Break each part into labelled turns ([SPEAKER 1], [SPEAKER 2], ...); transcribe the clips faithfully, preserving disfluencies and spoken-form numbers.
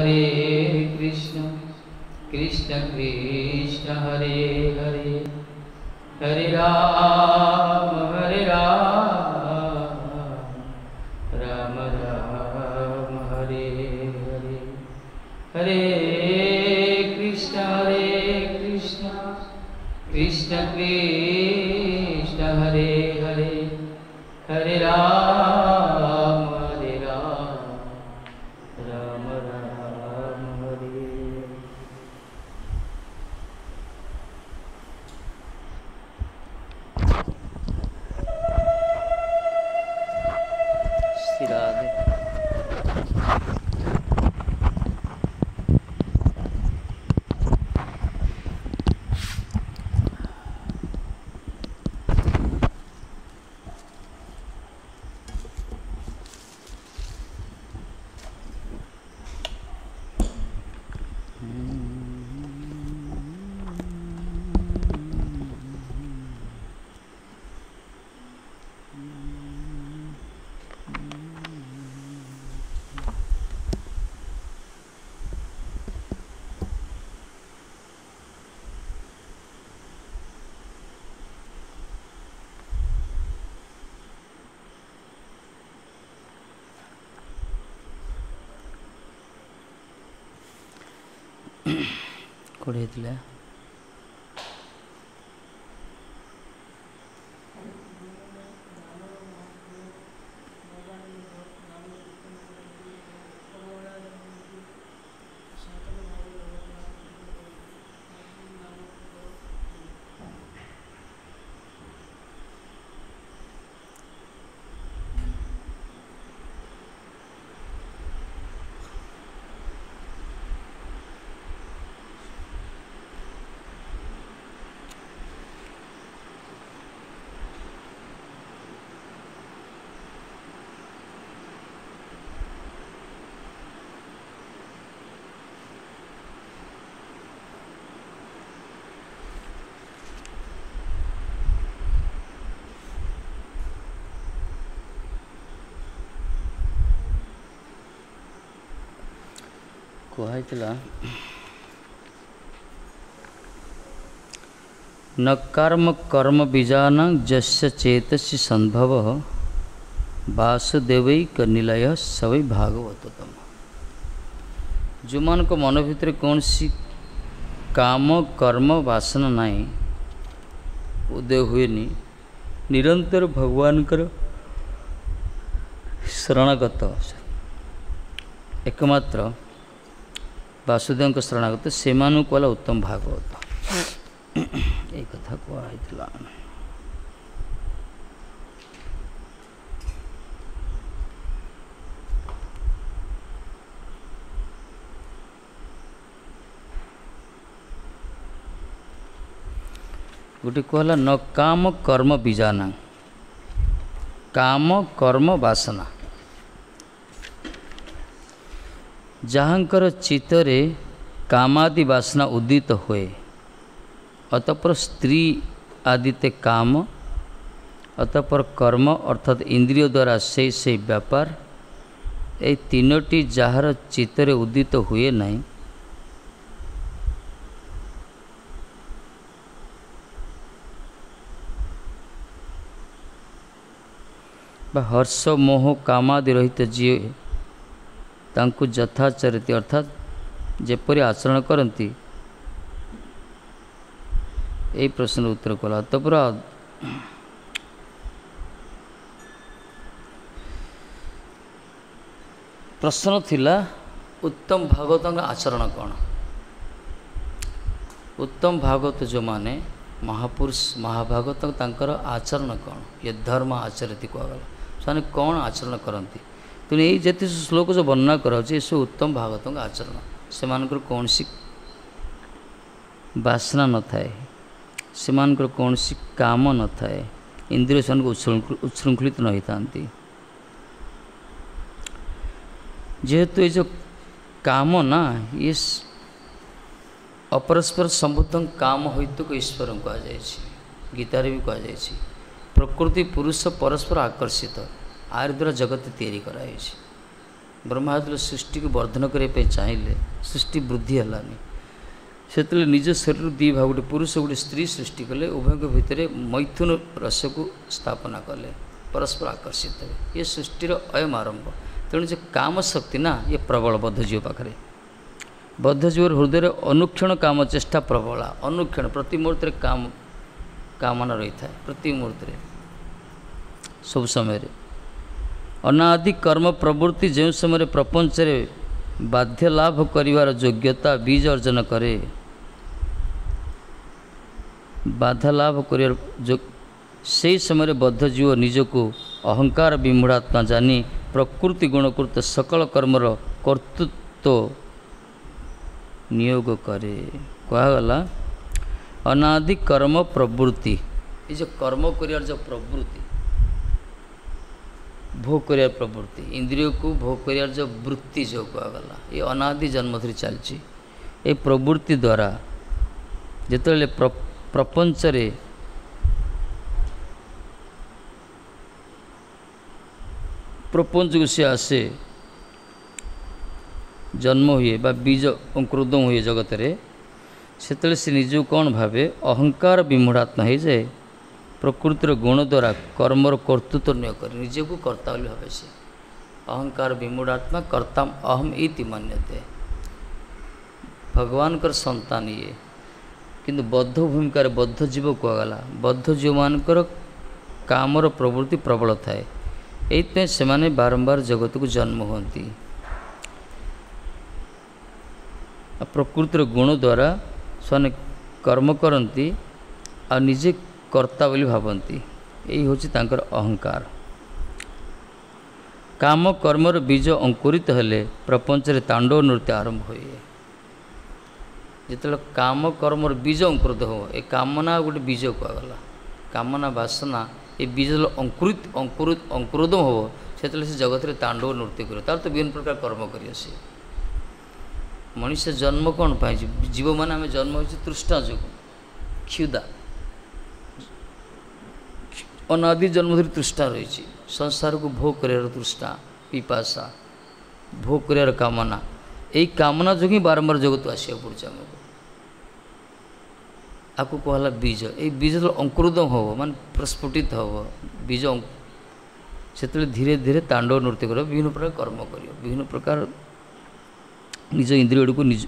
[SPEAKER 1] Hare Krishna, Krishna Krishna Hare Hare, Hare Rama Hare Rama, Rama Rama Hare Hare, Hare Krishna Hare Krishna, Krishna Krishna Hare Hare, Hare Rama Hare Rama, Rama Rama Hare. Shri Radhe. କୋଉଠି ହେଇଥିଲା? କୁହାହେଇଥିଲା ନ କର୍ମ କର୍ମ ବୀଜାନାଂ ଯସ୍ୟ ଚେତସି ସମ୍ଭବ ବାସୁଦେବୈକ ନିଲୟ ସବୈ ଭାଗବତୋତ୍ତମ। ଯେଉଁମାନଙ୍କ ମନ ଭିତରେ କୌଣସି କାମ କର୍ମ ବାସନା ନାହିଁ, ଉଦୟ ହୁଏନି, ନିରନ୍ତର ଭଗବାନଙ୍କର ଶରଣାଗତ, ଏକମାତ୍ର ବାସୁଦେବଙ୍କ ଶରଣାଗତ, ସେମାନଙ୍କୁ ହେଲା ଉତ୍ତମ ଭାଗବତ। ଏଇ କଥା କୁହାହେଇଥିଲା। ଗୋଟେ କୁହାହେଲା ନ କାମ କର୍ମ ବୀଜାନାଂ, କାମ କର୍ମ ବାସନା, ଯାହାଙ୍କର ଚିତ୍ତରେ କାମାଦି ବାସନା ଉଦିତ ହୁଏ, ଅତଃପର ସ୍ତ୍ରୀ ଆଦିତେ କାମ, ଅତଃପର କର୍ମ ଅର୍ଥାତ୍ ଇନ୍ଦ୍ରିୟ ଦ୍ୱାରା ସେଇ ସେଇ ବ୍ୟାପାର, ଏଇ ତିନୋଟି ଯାହାର ଚିତ୍ତରେ ଉଦିତ ହୁଏ ନାହିଁ, ବା ହର୍ଷ ମୋହ କାମାଦି ରହିତ ଯିଏ, ତାଙ୍କୁ ଯଥାଚରିତି ଅର୍ଥାତ୍ ଯେପରି ଆଚରଣ କରନ୍ତି, ଏଇ ପ୍ରଶ୍ନର ଉତ୍ତର କଲା। ଅତଃପର ପ୍ରଶ୍ନ ଥିଲା ଉତ୍ତମ ଭାଗବତଙ୍କ ଆଚରଣ କ'ଣ? ଉତ୍ତମ ଭାଗବତ ଯେଉଁମାନେ ମହାପୁରୁଷ ମହାଭାଗବତ, ତାଙ୍କର ଆଚରଣ କ'ଣ? ଏ ଧର୍ମ ଆଚରତି କୁହାଗଲା, ସେମାନେ କ'ଣ ଆଚରଣ କରନ୍ତି? ତେଣୁ ଏଇ ଯେତେ ଶ୍ଲୋକ ଯେଉଁ ବର୍ଣ୍ଣନା କରାଯାଉଛି, ଏସବୁ ଉତ୍ତମ ଭାଗବତଙ୍କ ଆଚରଣ। ସେମାନଙ୍କର କୌଣସି ବାସନା ନଥାଏ, ସେମାନଙ୍କର କୌଣସି କାମ ନଥାଏ, ଇନ୍ଦ୍ରିୟ ସେମାନଙ୍କୁ ଉଚ୍ଛୃଙ୍ଖଳିତ ନ ହୋଇଥାନ୍ତି। ଯେହେତୁ ଏ ଯେଉଁ କାମ ନା, ଇଏ ଅପରସ୍ପର ସମ୍ବୁଦ୍ଧ କାମ ହୋଇତୁକ ଈଶ୍ୱରଙ୍କୁ କୁହାଯାଇଛି, ଗୀତାରେ ବି କୁହାଯାଇଛି। ପ୍ରକୃତି ପୁରୁଷ ପରସ୍ପର ଆକର୍ଷିତ, ଆରି ଦ୍ୱାରା ଜଗତ ତିଆରି କରାଯାଇଛି। ବ୍ରହ୍ମା ଯେତେବେଳେ ସୃଷ୍ଟିକୁ ବର୍ଦ୍ଧନ କରିବା ପାଇଁ ଚାହିଁଲେ, ସୃଷ୍ଟି ବୃଦ୍ଧି ହେଲାନି। ସେତେବେଳେ ନିଜ ଶରୀରରୁ ଦୁଇ ଭାଗ, ଗୋଟେ ପୁରୁଷ ଗୋଟେ ସ୍ତ୍ରୀ ସୃଷ୍ଟି କଲେ। ଉଭୟଙ୍କ ଭିତରେ ମୈଥୁନ ରସକୁ ସ୍ଥାପନା କଲେ, ପରସ୍ପର ଆକର୍ଷିତ ହେବେ। ଏ ସୃଷ୍ଟିର ଅୟମ ଆରମ୍ଭ। ତେଣୁ ଯେ କାମ ଶକ୍ତି ନା, ଇଏ ପ୍ରବଳ ବଦ୍ଧଜୀବ ପାଖରେ। ବଦ୍ଧଜୀବର ହୃଦୟରେ ଅନୁକ୍ଷଣ କାମ ଚେଷ୍ଟା ପ୍ରବଳା। ଅନୁକ୍ଷଣ ପ୍ରତି ମୁହୂର୍ତ୍ତରେ କାମ କାମନା ରହିଥାଏ, ପ୍ରତି ମୁହୂର୍ତ୍ତରେ ସବୁ ସମୟରେ। ଅନାଦି କର୍ମ ପ୍ରବୃତ୍ତି ଯେଉଁ ସମୟରେ ପ୍ରପଞ୍ଚରେ ବାଧ୍ୟ ଲାଭ କରିବାର ଯୋଗ୍ୟତା ବୀଜ ଅର୍ଜନ କରେ, ବାଧା ଲାଭ କରିବାର, ସେହି ସମୟରେ ବଦ୍ଧଜୀବ ନିଜକୁ ଅହଙ୍କାର ବିମୂଢ଼ାତ୍ମା ଜାନି ପ୍ରକୃତି ଗୁଣକୃତ ସକଳ କର୍ମର କର୍ତ୍ତୃତ୍ୱ ନିୟୋଗ କରେ। କୁହାଗଲା ଅନାଦି କର୍ମ ପ୍ରବୃତ୍ତି, ଏ ଯେଉଁ କର୍ମ କରିବାର ଯେଉଁ ପ୍ରବୃତ୍ତି, ଭୋଗ କରିବାର ପ୍ରବୃତ୍ତି, ଇନ୍ଦ୍ରିୟକୁ ଭୋଗ କରିବାର ଯେଉଁ ବୃତ୍ତି ଯେଉଁ କୁହାଗଲା, ଏ ଅନାଦି ଜନ୍ମ ଧରି ଚାଲିଛି। ଏ ପ୍ରବୃତ୍ତି ଦ୍ୱାରା ଯେତେବେଳେ ପ୍ରପଞ୍ଚରେ ପ୍ରପଞ୍ଚକୁ ସେ ଆସେ, ଜନ୍ମ ହୁଏ ବା ବୀଜ ଅଙ୍କୁରୋଦ୍ଗମ ହୁଏ ଜଗତରେ, ସେତେବେଳେ ସେ ନିଜକୁ କ'ଣ ଭାବେ? ଅହଙ୍କାର ବିମୂଢ଼ାତ୍ମା ହେଇଯାଏ। ପ୍ରକୃତିର ଗୁଣ ଦ୍ୱାରା କର୍ମର କର୍ତ୍ତୃତ୍ୱ ନିୟ କରେ, ନିଜକୁ କର୍ତ୍ତା ବୋଲି ଭାବେ ସେ। ଅହଙ୍କାର ବିମୂଢ଼ାତ୍ମା କର୍ତ୍ତାମ ଅହମ୍ ଇତି ମନ୍ୟତେ। ଭଗବାନଙ୍କର ସନ୍ତାନ ଇଏ, କିନ୍ତୁ ବଦ୍ଧ ଭୂମିକାରେ ବଦ୍ଧ ଜୀବ କୁହାଗଲା। ବଦ୍ଧ ଜୀବମାନଙ୍କର କାମର ପ୍ରବୃତ୍ତି ପ୍ରବଳ ଥାଏ, ଏଇଥିପାଇଁ ସେମାନେ ବାରମ୍ବାର ଜଗତକୁ ଜନ୍ମ ହୁଅନ୍ତି। ଆଉ ପ୍ରକୃତିର ଗୁଣ ଦ୍ୱାରା ସେମାନେ କର୍ମ କରନ୍ତି ଆଉ ନିଜେ କର୍ତ୍ତା ବୋଲି ଭାବନ୍ତି। ଏଇ ହେଉଛି ତାଙ୍କର ଅହଙ୍କାର। କାମ କର୍ମର ବୀଜ ଅଙ୍କୁରିତ ହେଲେ ପ୍ରପଞ୍ଚରେ ତାଣ୍ଡବ ନୃତ୍ୟ ଆରମ୍ଭ ହୁଏ। ଯେତେବେଳେ କାମ କର୍ମର ବୀଜ ଅଙ୍କୁରିତ ହେବ, ଏ କାମନା ଗୋଟେ ବୀଜ କୁହାଗଲା, କାମନା ବାସନା ଏ ବୀଜ ଯେତେବେଳେ ଅଙ୍କୁରିତ ଅଙ୍କୁରିତ ଅଙ୍କୁରୋଦମ ହେବ, ସେତେବେଳେ ସେ ଜଗତରେ ତାଣ୍ଡବ ନୃତ୍ୟ କରିବ। ତାର ତ ବିଭିନ୍ନ ପ୍ରକାର କର୍ମ କରିବ ସେ। ମଣିଷ ଜନ୍ମ କ'ଣ ପାଇଁ? ଜୀବମାନେ ଆମେ ଜନ୍ମ ହେଇଛୁ ତୃଷ୍ଣା ଯୋଗୁଁ, କ୍ଷୁଦା, ଅନାଦି ଜନ୍ମ ଧରି ତୃଷ୍ଣା ରହିଛି। ସଂସାରକୁ ଭୋଗ କରିବାର ତୃଷ୍ଣା, ପିପାସା, ଭୋଗ କରିବାର କାମନା, ଏଇ କାମନା ଯୋଗୁଁ ହିଁ ବାରମ୍ବାର ଜଗତକୁ ଆସିବାକୁ ପଡ଼ୁଛି ଆମକୁ। ଆକୁ କୁହାହେଲା ବୀଜ। ଏଇ ବୀଜ ଯେତେବେଳେ ଅଙ୍କୁରୋଦମ ହେବ, ମାନେ ପ୍ରସ୍ଫୁଟିତ ହେବ ବୀଜ, ସେତେବେଳେ ଧୀରେ ଧୀରେ ତାଣ୍ଡବ ନୃତ୍ୟ କରିବ, ବିଭିନ୍ନ ପ୍ରକାର କର୍ମ କରିବ, ବିଭିନ୍ନ ପ୍ରକାର ନିଜ ଇନ୍ଦ୍ରିୟ ଗୁଡ଼ିକୁ ନିଜ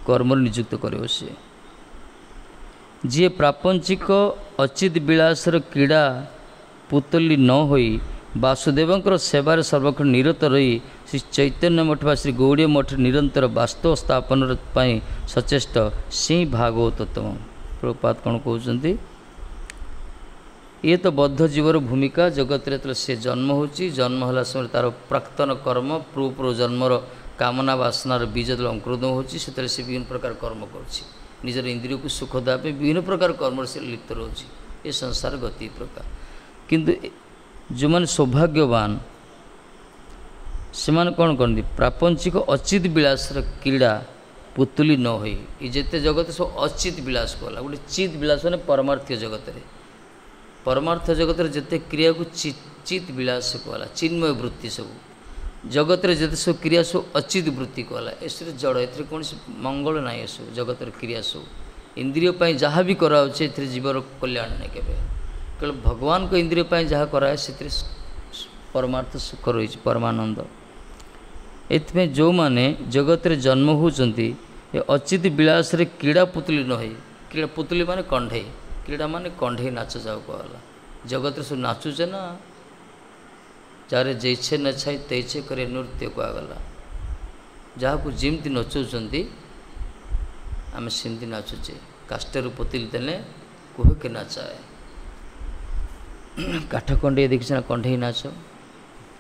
[SPEAKER 1] କର୍ମରେ ନିଯୁକ୍ତ କରିବ ସିଏ। ଯିଏ ପ୍ରାପଞ୍ଚିକ ଅଚିତ ବିଳାସର କ୍ରୀଡ଼ା ପୁତଲି ନ ହୋଇ ବାସୁଦେବଙ୍କର ସେବାରେ ସର୍ବକ୍ଷଣ ନିରତ ରହି ଶ୍ରୀ ଚୈତନ୍ୟ ମଠ ବା ଶ୍ରୀ ଗୌଡ଼ୀୟ ମଠରେ ନିରନ୍ତର ବାସ୍ତବ ସ୍ଥାପନ ପାଇଁ ସଚେଷ୍ଟ, ସେ ଭାଗବତୋତ୍ତମ। ପ୍ରଭୁପାଦ କ'ଣ କହୁଛନ୍ତି? ଇଏ ତ ବଦ୍ଧ ଜୀବର ଭୂମିକା। ଜଗତରେ ଯେତେବେଳେ ସେ ଜନ୍ମ ହେଉଛି, ଜନ୍ମ ହେଲା ସମୟରେ ତା'ର ପ୍ରାକ୍ତନ କର୍ମ, ପୂର୍ବ ଜନ୍ମର କାମନା ବାସନାର ବୀଜ ଯେତେବେଳେ ଅଙ୍କୁରୋଦ୍ଗମ ହେଉଛି, ସେତେବେଳେ ସେ ବିଭିନ୍ନ ପ୍ରକାର କର୍ମ କରୁଛି। ନିଜର ଇନ୍ଦ୍ରିୟକୁ ସୁଖ ଦେବା ପାଇଁ ବିଭିନ୍ନ ପ୍ରକାର କର୍ମରେ ସେ ଲିପ୍ତ ରହୁଛି। ଏ ସଂସାର ଗତି ପ୍ରକାର। କିନ୍ତୁ ଯେଉଁମାନେ ସୌଭାଗ୍ୟବାନ, ସେମାନେ କ'ଣ କରନ୍ତି? ପ୍ରାପଞ୍ଚିକ ଅଚିତ ବିଳାସର କ୍ରୀଡ଼ା ପୁତୁଲି ନ ହୋଇ, ଏ ଯେତେ ଜଗତ ସବୁ ଅଚିତ ବିଳାସ କଲା, ଗୋଟେ ଚିତ୍ ବିଳାସ ମାନେ ପରମାର୍ଥୀୟ ଜଗତରେ, ପରମାର୍ଥ ଜଗତରେ ଯେତେ କ୍ରିୟାକୁ ଚିତ୍ ବିଳାସ କୁହାଗଲା, ଚିନ୍ମୟ ବୃତ୍ତି ସବୁ ଜଗତରେ ଯେତେ ସବୁ କ୍ରିୟା ସବୁ ଅଚିତ ବୃତ୍ତି କୁହାଗଲା। ଏସବୁ ଜଡ଼, ଏଥିରେ କୌଣସି ମଙ୍ଗଳ ନାହିଁ। ଏସବୁ ଜଗତର କ୍ରିୟା ସବୁ ଇନ୍ଦ୍ରିୟ ପାଇଁ ଯାହା ବି କରାହେଉଛି, ଏଥିରେ ଜୀବର କଲ୍ୟାଣ ନାହିଁ କେବେ। କେବଳ ଭଗବାନଙ୍କ ଇନ୍ଦ୍ରିୟ ପାଇଁ ଯାହା କରାଏ, ସେଥିରେ ପରମାର୍ଥ ସୁଖ ରହିଛି, ପରମାନନ୍ଦ। ଏଥିପାଇଁ ଯେଉଁମାନେ ଜଗତରେ ଜନ୍ମ ହେଉଛନ୍ତି, ଏ ଅଚିତ ବିଳାସରେ କ୍ରୀଡ଼ା ପୁତୁଲି ନ ହେଇ, କ୍ରୀଡ଼ା ପୁତୁଲି ମାନେ କଣ୍ଢେଇ, କ୍ରୀଡ଼ା ମାନେ କଣ୍ଢେଇ ନାଚ ଯାଉ କୁହାଗଲା। ଜଗତରେ ସବୁ ନାଚୁଛେ ନା, ଯାରେ ଜୈଛେ ନଛାଇ ତୈଛେ କରେ ନୃତ୍ୟ କୁହାଗଲା। ଯାହାକୁ ଯେମିତି ନଚଉଛନ୍ତି ଆମେ ସେମିତି ନାଚୁଛେ। କାଷ୍ଠରୁ ପୋତିଲି ଦେଲେ କୁହ କେ ନାଚାଏ। କାଠ କଣ୍ଢେଇ ଦେଖିଛ ନା? କଣ୍ଢେଇ ନାଚ,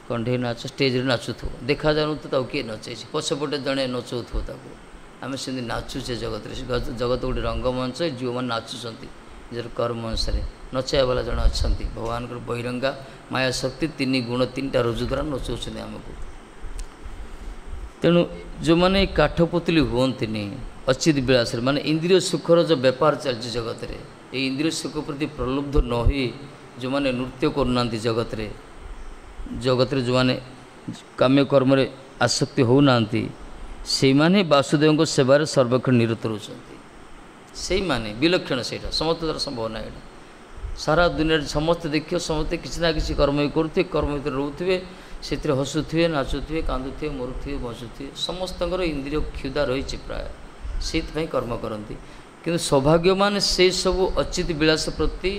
[SPEAKER 1] କଣ୍ଢେଇ ନାଚ ଷ୍ଟେଜ୍ରେ ନାଚୁଥିବ, ଦେଖାଯାଉନଥିବ ତାକୁ କିଏ ନଚେଇଛି, ପଛପଟେ ଜଣେ ନଚଉଥିବ ତାକୁ। ଆମେ ସେମିତି ନାଚୁଛେ ଜଗତରେ। ଜଗତ ଗୋଟେ ରଙ୍ଗମଞ୍ଚ, ଯେଉଁମାନେ ନାଚୁଛନ୍ତି ନିଜର କର୍ମ ଅନୁସାରେ, ନଚାଇବା ବାଲା ଜଣେ ଅଛନ୍ତି, ଭଗବାନଙ୍କର ବହିରଙ୍ଗା ମାୟା ଶକ୍ତି ତିନି ଗୁଣ ତିନିଟା ରଜୁ ଦ୍ୱାରା ନଚଉଛନ୍ତି ଆମକୁ। ତେଣୁ ଯେଉଁମାନେ କାଠ ପୁତୁଲି ହୁଅନ୍ତିନି ଅଚିତ ବିଳାସରେ, ମାନେ ଇନ୍ଦ୍ରିୟ ସୁଖର ଯେଉଁ ବେପାର ଚାଲିଛି ଜଗତରେ, ଏଇ ଇନ୍ଦ୍ରିୟ ସୁଖ ପ୍ରତି ପ୍ରଲୁବ୍ଧ ନ ହୋଇ ଯେଉଁମାନେ ନୃତ୍ୟ କରୁନାହାନ୍ତି ଜଗତରେ, ଜଗତରେ ଯେଉଁମାନେ କାମ୍ୟ କର୍ମରେ ଆସକ୍ତି ହେଉନାହାନ୍ତି, ସେଇମାନେ ବାସୁଦେବଙ୍କ ସେବାରେ ସର୍ବକ୍ଷଣ ନିରତ ରହୁଛନ୍ତି। ସେଇମାନେ ବିଲକ୍ଷଣ, ସେଇଟା ସମସ୍ତ ଦ୍ୱାରା ସମ୍ଭବ ନାହିଁ। ଏଇଟା ସାରା ଦୁନିଆରେ ସମସ୍ତେ ଦେଖିବ, ସମସ୍ତେ କିଛି ନା କିଛି କର୍ମ ବି କରୁଥିବେ, କର୍ମ ଭିତରେ ରହୁଥିବେ, ସେଥିରେ ହସୁଥିବେ, ନାଚୁଥିବେ, କାନ୍ଦୁଥିବେ, ମରୁଥିବେ, ବଞ୍ଚୁଥିବେ। ସମସ୍ତଙ୍କର ଇନ୍ଦ୍ରିୟ କ୍ଷୁଧା ରହିଛି ପ୍ରାୟ, ସେଇଥିପାଇଁ କର୍ମ କରନ୍ତି। କିନ୍ତୁ ସୌଭାଗ୍ୟମାନ ସେସବୁ ଅଚିତ ବିଳାସ ପ୍ରତି,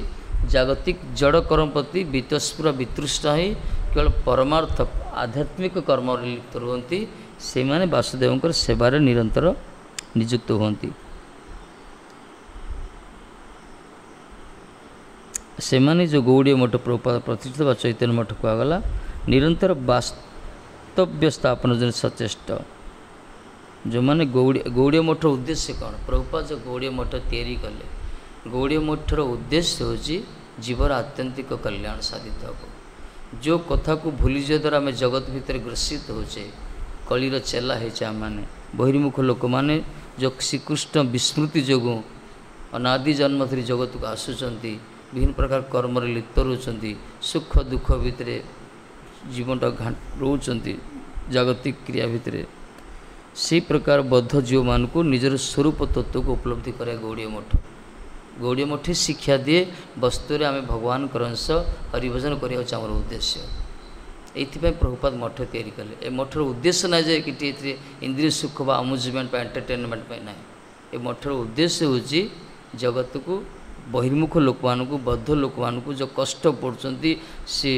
[SPEAKER 1] ଜାଗତିକ ଜଡ଼ କର୍ମ ପ୍ରତି ବିତସ୍ପୁର ବିତୃଷ୍ଣ ହେଇ କେବଳ ପରମାର୍ଥ ଆଧ୍ୟାତ୍ମିକ କର୍ମରେ ଲିପ୍ତ ରୁହନ୍ତି। ସେଇମାନେ ବାସୁଦେବଙ୍କର ସେବାରେ ନିରନ୍ତର ନିଯୁକ୍ତ ହୁଅନ୍ତି। ସେମାନେ ଯେଉଁ ଗୌଡ଼ୀୟ ମଠ ପ୍ରଭୁପାଦ ପ୍ରତିଷ୍ଠିତ ବା ଚୈତନ୍ୟ ମଠ କୁହାଗଲା, ନିରନ୍ତର ବାସ୍ତବ୍ୟ ସ୍ଥାପନ ଜଣେ ସଚେଷ୍ଟ। ଯେଉଁମାନେ ଗୌଡ଼ୀ ଗୌଡ଼ୀୟ ମଠର ଉଦ୍ଦେଶ୍ୟ କ'ଣ? ପ୍ରଭୁପାଦ ଯେଉଁ ଗୌଡ଼ୀୟ ମଠ ତିଆରି କଲେ, ଗୌଡ଼ୀୟ ମଠର ଉଦ୍ଦେଶ୍ୟ ହେଉଛି ଜୀବର ଆତ୍ୟନ୍ତିକ କଲ୍ୟାଣ ସାଧିତ ହେବ। ଯେଉଁ କଥାକୁ ଭୁଲିଯିବା ଦ୍ୱାରା ଆମେ ଜଗତ ଭିତରେ ଗ୍ରସିତ ହେଉଛେ, କଳିର ଚେଲା ହେଇଛେ ଆମମାନେ, ବହିର୍ମୁଖ ଲୋକମାନେ ଯେଉଁ ଶ୍ରୀକୃଷ୍ଣ ବିସ୍ମୃତି ଯୋଗୁଁ ଅନାଦି ଜନ୍ମ ଧରି ଜଗତକୁ ଆସୁଛନ୍ତି, ବିଭିନ୍ନ ପ୍ରକାର କର୍ମରେ ଲିପ୍ତ ରହୁଛନ୍ତି, ସୁଖ ଦୁଃଖ ଭିତରେ ଜୀବନଟା ରହୁଛନ୍ତି, ଜାଗତିକ କ୍ରିୟା ଭିତରେ, ସେଇ ପ୍ରକାର ବଦ୍ଧ ଜୀବମାନଙ୍କୁ ନିଜର ସ୍ୱରୂପ ତତ୍ତ୍ୱକୁ ଉପଲବ୍ଧି କରିବା ଗୌଡ଼ୀୟ ମଠ। ଗୌଡ଼ୀୟ ମଠ ଶିକ୍ଷା ଦିଏ ବସ୍ତୁରେ ଆମେ ଭଗବାନଙ୍କର ଅଂଶ, ହରିଭଜନ କରିବା ହେଉଛି ଆମର ଉଦ୍ଦେଶ୍ୟ। ଏଇଥିପାଇଁ ପ୍ରଭୁପାଦ ମଠ ତିଆରି କଲେ। ଏ ମଠର ଉଦ୍ଦେଶ୍ୟ ନାହିଁ ଯେ କି ଏଥିରେ ଇନ୍ଦ୍ରିୟ ସୁଖ ବା ଆମ୍ୟୁଜମେଣ୍ଟ ବା ଏଣ୍ଟରଟେନମେଣ୍ଟ ପାଇଁ ନାହିଁ। ଏ ମଠର ଉଦ୍ଦେଶ୍ୟ ହେଉଛି ଜଗତକୁ, ବହିର୍ମୁଖ ଲୋକମାନଙ୍କୁ, ବଦ୍ଧ ଲୋକମାନଙ୍କୁ ଯେଉଁ କଷ୍ଟ ପଡ଼ୁଛନ୍ତି, ସେ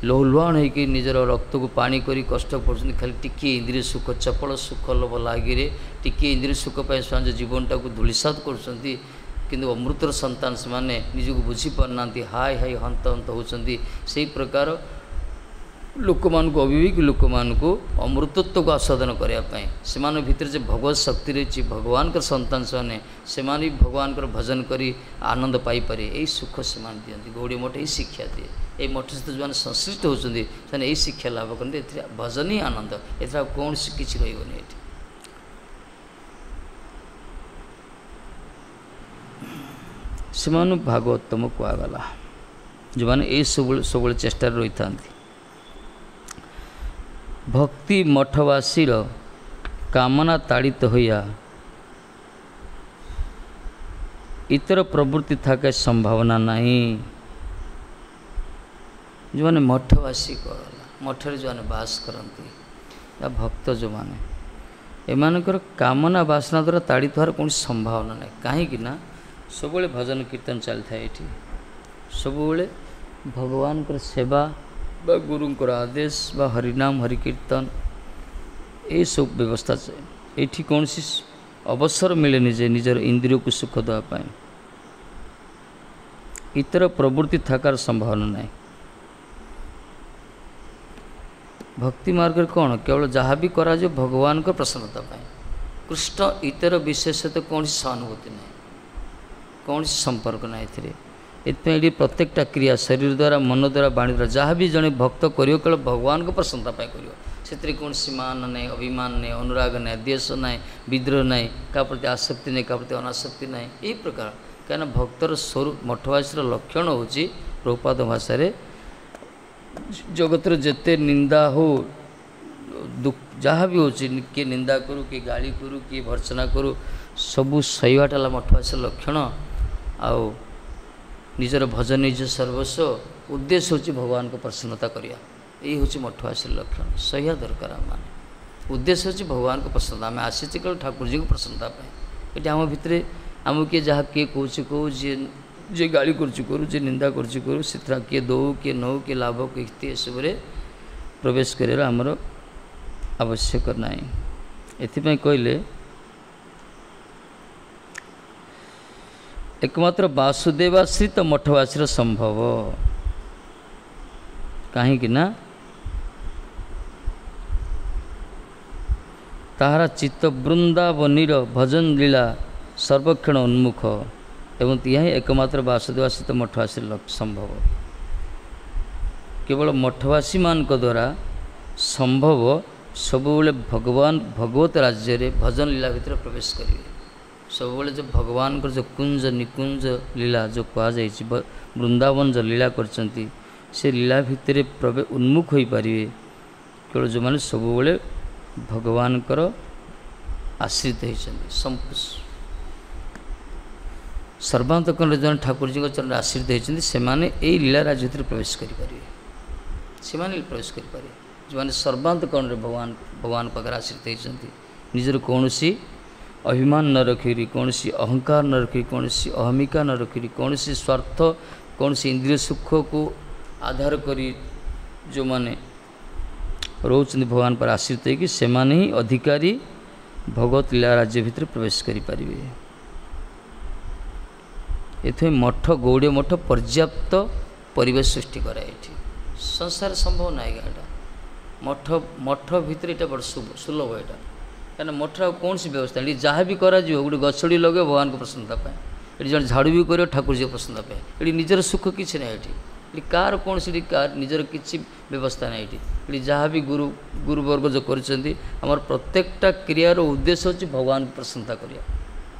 [SPEAKER 1] ଲହୁଲୁହାଣ ହେଇକି ନିଜର ରକ୍ତକୁ ପାଣି କରି କଷ୍ଟ ପଡ଼ୁଛନ୍ତି, ଖାଲି ଟିକିଏ ଇନ୍ଦ୍ରିୟ ସୁଖ, ଚପଳ ସୁଖ ଲୋଭ ଲାଗିରେ ଟିକିଏ ଇନ୍ଦ୍ରିୟ ସୁଖ ପାଇଁ ସେମାନେ ଜୀବନଟାକୁ ଧୂଳିସାତ କରୁଛନ୍ତି। କିନ୍ତୁ ଅମୃତର ସନ୍ତାନ ସେମାନେ ନିଜକୁ ବୁଝିପାରୁନାହାନ୍ତି, ହାଇ ହାଇ ହନ୍ତ ହନ୍ତ ହେଉଛନ୍ତି। ସେଇ ପ୍ରକାର ଲୋକମାନଙ୍କୁ, ଅବିବେକୀ ଲୋକମାନଙ୍କୁ ଅମୃତତ୍ୱକୁ ଆସ୍ୱାଦନ କରିବା ପାଇଁ, ସେମାନଙ୍କ ଭିତରେ ଯେ ଭଗବତ ଶକ୍ତି ରହିଛି, ଭଗବାନଙ୍କର ସନ୍ତାନ ସେମାନେ, ସେମାନେ ବି ଭଗବାନଙ୍କର ଭଜନ କରି ଆନନ୍ଦ ପାଇପାରିବେ, ଏଇ ସୁଖ ସେମାନେ ଦିଅନ୍ତି। ଗୌଡ଼ୀୟ ମଠ ଏଇ ଶିକ୍ଷା ଦିଏ। ଏଇ ମଠ ସହିତ ଯେଉଁମାନେ ସଂଶ୍ଳିଷ୍ଟ ହେଉଛନ୍ତି ସେମାନେ ଏଇ ଶିକ୍ଷା ଲାଭ କରନ୍ତି। ଏଥିରେ ଭଜନ ହିଁ ଆନନ୍ଦ, ଏଥିରେ ଆଉ କୌଣସି କିଛି ରହିବନି ଏଠି। ସେମାନଙ୍କୁ ଭାଗବତମ କୁହାଗଲା, ଯେଉଁମାନେ ଏଇ ସବୁବେଳେ ସବୁବେଳେ ଚେଷ୍ଟାରେ ରହିଥାନ୍ତି। ଭକ୍ତି ମଠବାସୀର କାମନା ତାଡ଼ିତ ହୋଇଆ ଇତର ପ୍ରବୃତ୍ତି ଥାକେ ସମ୍ଭାବନା ନାହିଁ। ଯେଉଁମାନେ ମଠବାସୀ କୁହାଗଲା, ମଠରେ ଯେଉଁମାନେ ବାସ କରନ୍ତି ବା ଭକ୍ତ ଯେଉଁମାନେ, ଏମାନଙ୍କର କାମନା ବାସନା ଦ୍ୱାରା ତାଡ଼ିତ ହେବାର କୌଣସି ସମ୍ଭାବନା ନାହିଁ। କାହିଁକି ନା ସବୁବେଳେ ଭଜନ କୀର୍ତ୍ତନ ଚାଲିଥାଏ ଏଠି, ସବୁବେଳେ ଭଗବାନଙ୍କର ସେବା ବା ଗୁରୁଙ୍କର ଆଦେଶ ବା ହରିନାମ ହରିକୀର୍ତ୍ତନ ଏଇସବୁ ବ୍ୟବସ୍ଥା। ଏଇଠି କୌଣସି ଅବସର ମିଳେନି ଯେ ନିଜର ଇନ୍ଦ୍ରିୟକୁ ସୁଖ ଦେବା ପାଇଁ। ଇତର ପ୍ରବୃତ୍ତି ଥାକାର ସମ୍ଭାବନା ନାହିଁ। ଭକ୍ତି ମାର୍ଗରେ କ'ଣ କେବଳ ଯାହା ବି କରାଯିବ ଭଗବାନଙ୍କ ପ୍ରସନ୍ନତା ପାଇଁ। କୃଷ୍ଣ ଇତର ବିଶେଷତ କୌଣସି ସହାନୁଭୂତି ନାହିଁ, କୌଣସି ସମ୍ପର୍କ ନାହିଁ ଏଥିରେ। ଏଥିପାଇଁ ଏଠି ପ୍ରତ୍ୟେକଟା କ୍ରିୟା ଶରୀର ଦ୍ୱାରା, ମନ ଦ୍ୱାରା, ବାଣୀ ଦ୍ୱାରା ଯାହା ବି ଜଣେ ଭକ୍ତ କରିବ କେବଳ ଭଗବାନଙ୍କ ପ୍ରସନ୍ନତା ପାଇଁ କରିବ। ସେଥିରେ କୌଣସି ମାନ ନାହିଁ, ଅଭିମାନ ନାହିଁ, ଅନୁରାଗ ନାହିଁ, ଦ୍ୱେଷ ନାହିଁ, ବିଦ୍ରୋହ ନାହିଁ, କାହା ପ୍ରତି ଆସକ୍ତି ନାହିଁ, କାହା ପ୍ରତି ଅନାସକ୍ତି ନାହିଁ, ଏଇ ପ୍ରକାର। କାହିଁକିନା ଭକ୍ତର ସ୍ୱରୂପ ମଠବାସୀର ଲକ୍ଷଣ ହେଉଛି ପ୍ରଭୁପାଦ ଭାଷାରେ ଜଗତର ଯେତେ ନିନ୍ଦା ହଉ, ଯାହା ବି ହେଉଛି, କିଏ ନିନ୍ଦା କରୁ, କିଏ ଗାଳି କରୁ, କିଏ ଭର୍ତ୍ସନା କରୁ, ସବୁ ସହିବାଟା ହେଲା ମଠବାସୀର ଲକ୍ଷଣ। ଆଉ ନିଜର ଭଜନ ନିଜ ସର୍ବସ୍ୱ ଉଦ୍ଦେଶ୍ୟ ହେଉଛି ଭଗବାନଙ୍କ ପ୍ରସନ୍ନତା କରିବା, ଏଇ ହେଉଛି ମଠବାସୀର ଲକ୍ଷଣ। ସହିବା ଦରକାର ଆମମାନେ, ଉଦ୍ଦେଶ୍ୟ ହେଉଛି ଭଗବାନଙ୍କ ପ୍ରସନ୍ନତା। ଆମେ ଆସିଛେ କେବଳ ଠାକୁରଜୀଙ୍କ ପ୍ରସନ୍ନତା ପାଇଁ। ଏଠି ଆମ ଭିତରେ ଆମକୁ କିଏ ଯାହା କିଏ କହୁଛି କହୁ, ଯିଏ ଯିଏ ଗାଳି କରୁଛି କରୁ, ଯିଏ ନିନ୍ଦା କରୁଛି କରୁ, ସେଥିରେ କିଏ ଦେଉ କିଏ ନେଉ, କିଏ ଲାଭ କିଏ କ୍ଷତି, ଏସବୁରେ ପ୍ରବେଶ କରିବାର ଆମର ଆବଶ୍ୟକ ନାହିଁ। ଏଥିପାଇଁ କହିଲେ ଏକମାତ୍ର ବାସୁଦେବାଶ୍ରିତ ମଠବାସୀର ସମ୍ଭବ। କାହିଁକି ନା ତାହାର ଚିତ୍ତ ବୃନ୍ଦାବନୀର ଭଜନ ଲୀଳା ସର୍ବକ୍ଷଣ ଉନ୍ମୁଖ ଏବଂ ଏହା ହିଁ ଏକମାତ୍ର ବାସୁଦେବାଶ୍ରିତ ମଠବାସୀର ସମ୍ଭବ। କେବଳ ମଠବାସୀମାନଙ୍କ ଦ୍ୱାରା ସମ୍ଭବ ସବୁବେଳେ ଭଗବାନ ଭଗବତ ରାଜ୍ୟରେ ଭଜନ ଲୀଳା ଭିତରେ ପ୍ରବେଶ କରିବେ। ସବୁବେଳେ ଯେଉଁ ଭଗବାନଙ୍କର ଯେଉଁ କୁଞ୍ଜ ନିକୁଞ୍ଜ ଲୀଳା ଯେଉଁ କୁହାଯାଇଛି, ବୃନ୍ଦାବନ ଯେଉଁ ଲୀଳା କରିଛନ୍ତି, ସେ ଲୀଳା ଭିତରେ ପ୍ରବେ ଉନ୍ମୁଖ ହୋଇପାରିବେ କେବଳ ଯେଉଁମାନେ ସବୁବେଳେ ଭଗବାନଙ୍କର ଆଶ୍ରିତ ହେଇଛନ୍ତି। ସର୍ବାନ୍ତକରଣରେ ଜଣେ ଠାକୁରଜୀଙ୍କ ଚରଣରେ ଆଶ୍ରିତ ହେଇଛନ୍ତି, ସେମାନେ ଏଇ ଲୀଳା ରାଜ୍ୟ ଭିତରେ ପ୍ରବେଶ କରିପାରିବେ। ସେମାନେ ପ୍ରବେଶ କରିପାରିବେ ଯେଉଁମାନେ ସର୍ବାନ୍ତକରଣରେ ଭଗବାନ ଭଗବାନ ପାଖରେ ଆଶ୍ରିତ ହେଇଛନ୍ତି, ନିଜର କୌଣସି ଅଭିମାନ ନ ରଖିକରି, କୌଣସି ଅହଙ୍କାର ନ ରଖି, କୌଣସି ଅହମିକା ନ ରଖିକରି, କୌଣସି ସ୍ୱାର୍ଥ, କୌଣସି ଇନ୍ଦ୍ରିୟ ସୁଖକୁ ଆଧାର କରି ଯେଉଁମାନେ ରହୁଛନ୍ତି ଭଗବାନ ପରେ ଆଶ୍ରିତ ହେଇକି, ସେମାନେ ହିଁ ଅଧିକାରୀ ଭଗବତ ଲୀଳା ରାଜ୍ୟ ଭିତରେ ପ୍ରବେଶ କରିପାରିବେ। ଏଥିପାଇଁ ମଠ, ଗୌଡ଼ୀୟ ମଠ ପର୍ଯ୍ୟାପ୍ତ ପରିବେଶ ସୃଷ୍ଟି କରାଏ। ଏଠି ସଂସାର ସମ୍ଭବ ନାହିଁ ଏଇଟା। ମଠ ମଠ ଭିତରେ ଏଇଟା ବଡ଼ ସୁଲଭ ଏଇଟା, କାହିଁକିନା ମଠର ଆଉ କୌଣସି ବ୍ୟବସ୍ଥା ଏଠି ଯାହା ବି କରାଯିବ, ଗୋଟେ ଗଛଟି ଲଗେଇବ ଭଗବାନଙ୍କ ପ୍ରସନ୍ନତା ପାଇଁ, ଏଠି ଜଣେ ଝାଡ଼ୁ ବି କରିବ ଠାକୁରଜୀଙ୍କ ପ୍ରସନ୍ନତା ପାଇଁ। ଏଠି ନିଜର ସୁଖ କିଛି ନାହିଁ, ଏଠି ଏଠି କାହାର କୌଣସି ଏଠି କାହାର ନିଜର କିଛି ବ୍ୟବସ୍ଥା ନାହିଁ। ଏଠି ଏଠି ଯାହା ବି ଗୁରୁ ଗୁରୁବର୍ଗ ଯେଉଁ କରିଛନ୍ତି, ଆମର ପ୍ରତ୍ୟେକଟା କ୍ରିୟାର ଉଦ୍ଦେଶ୍ୟ ହେଉଛି ଭଗବାନଙ୍କୁ ପ୍ରସନ୍ନତା କରିବା।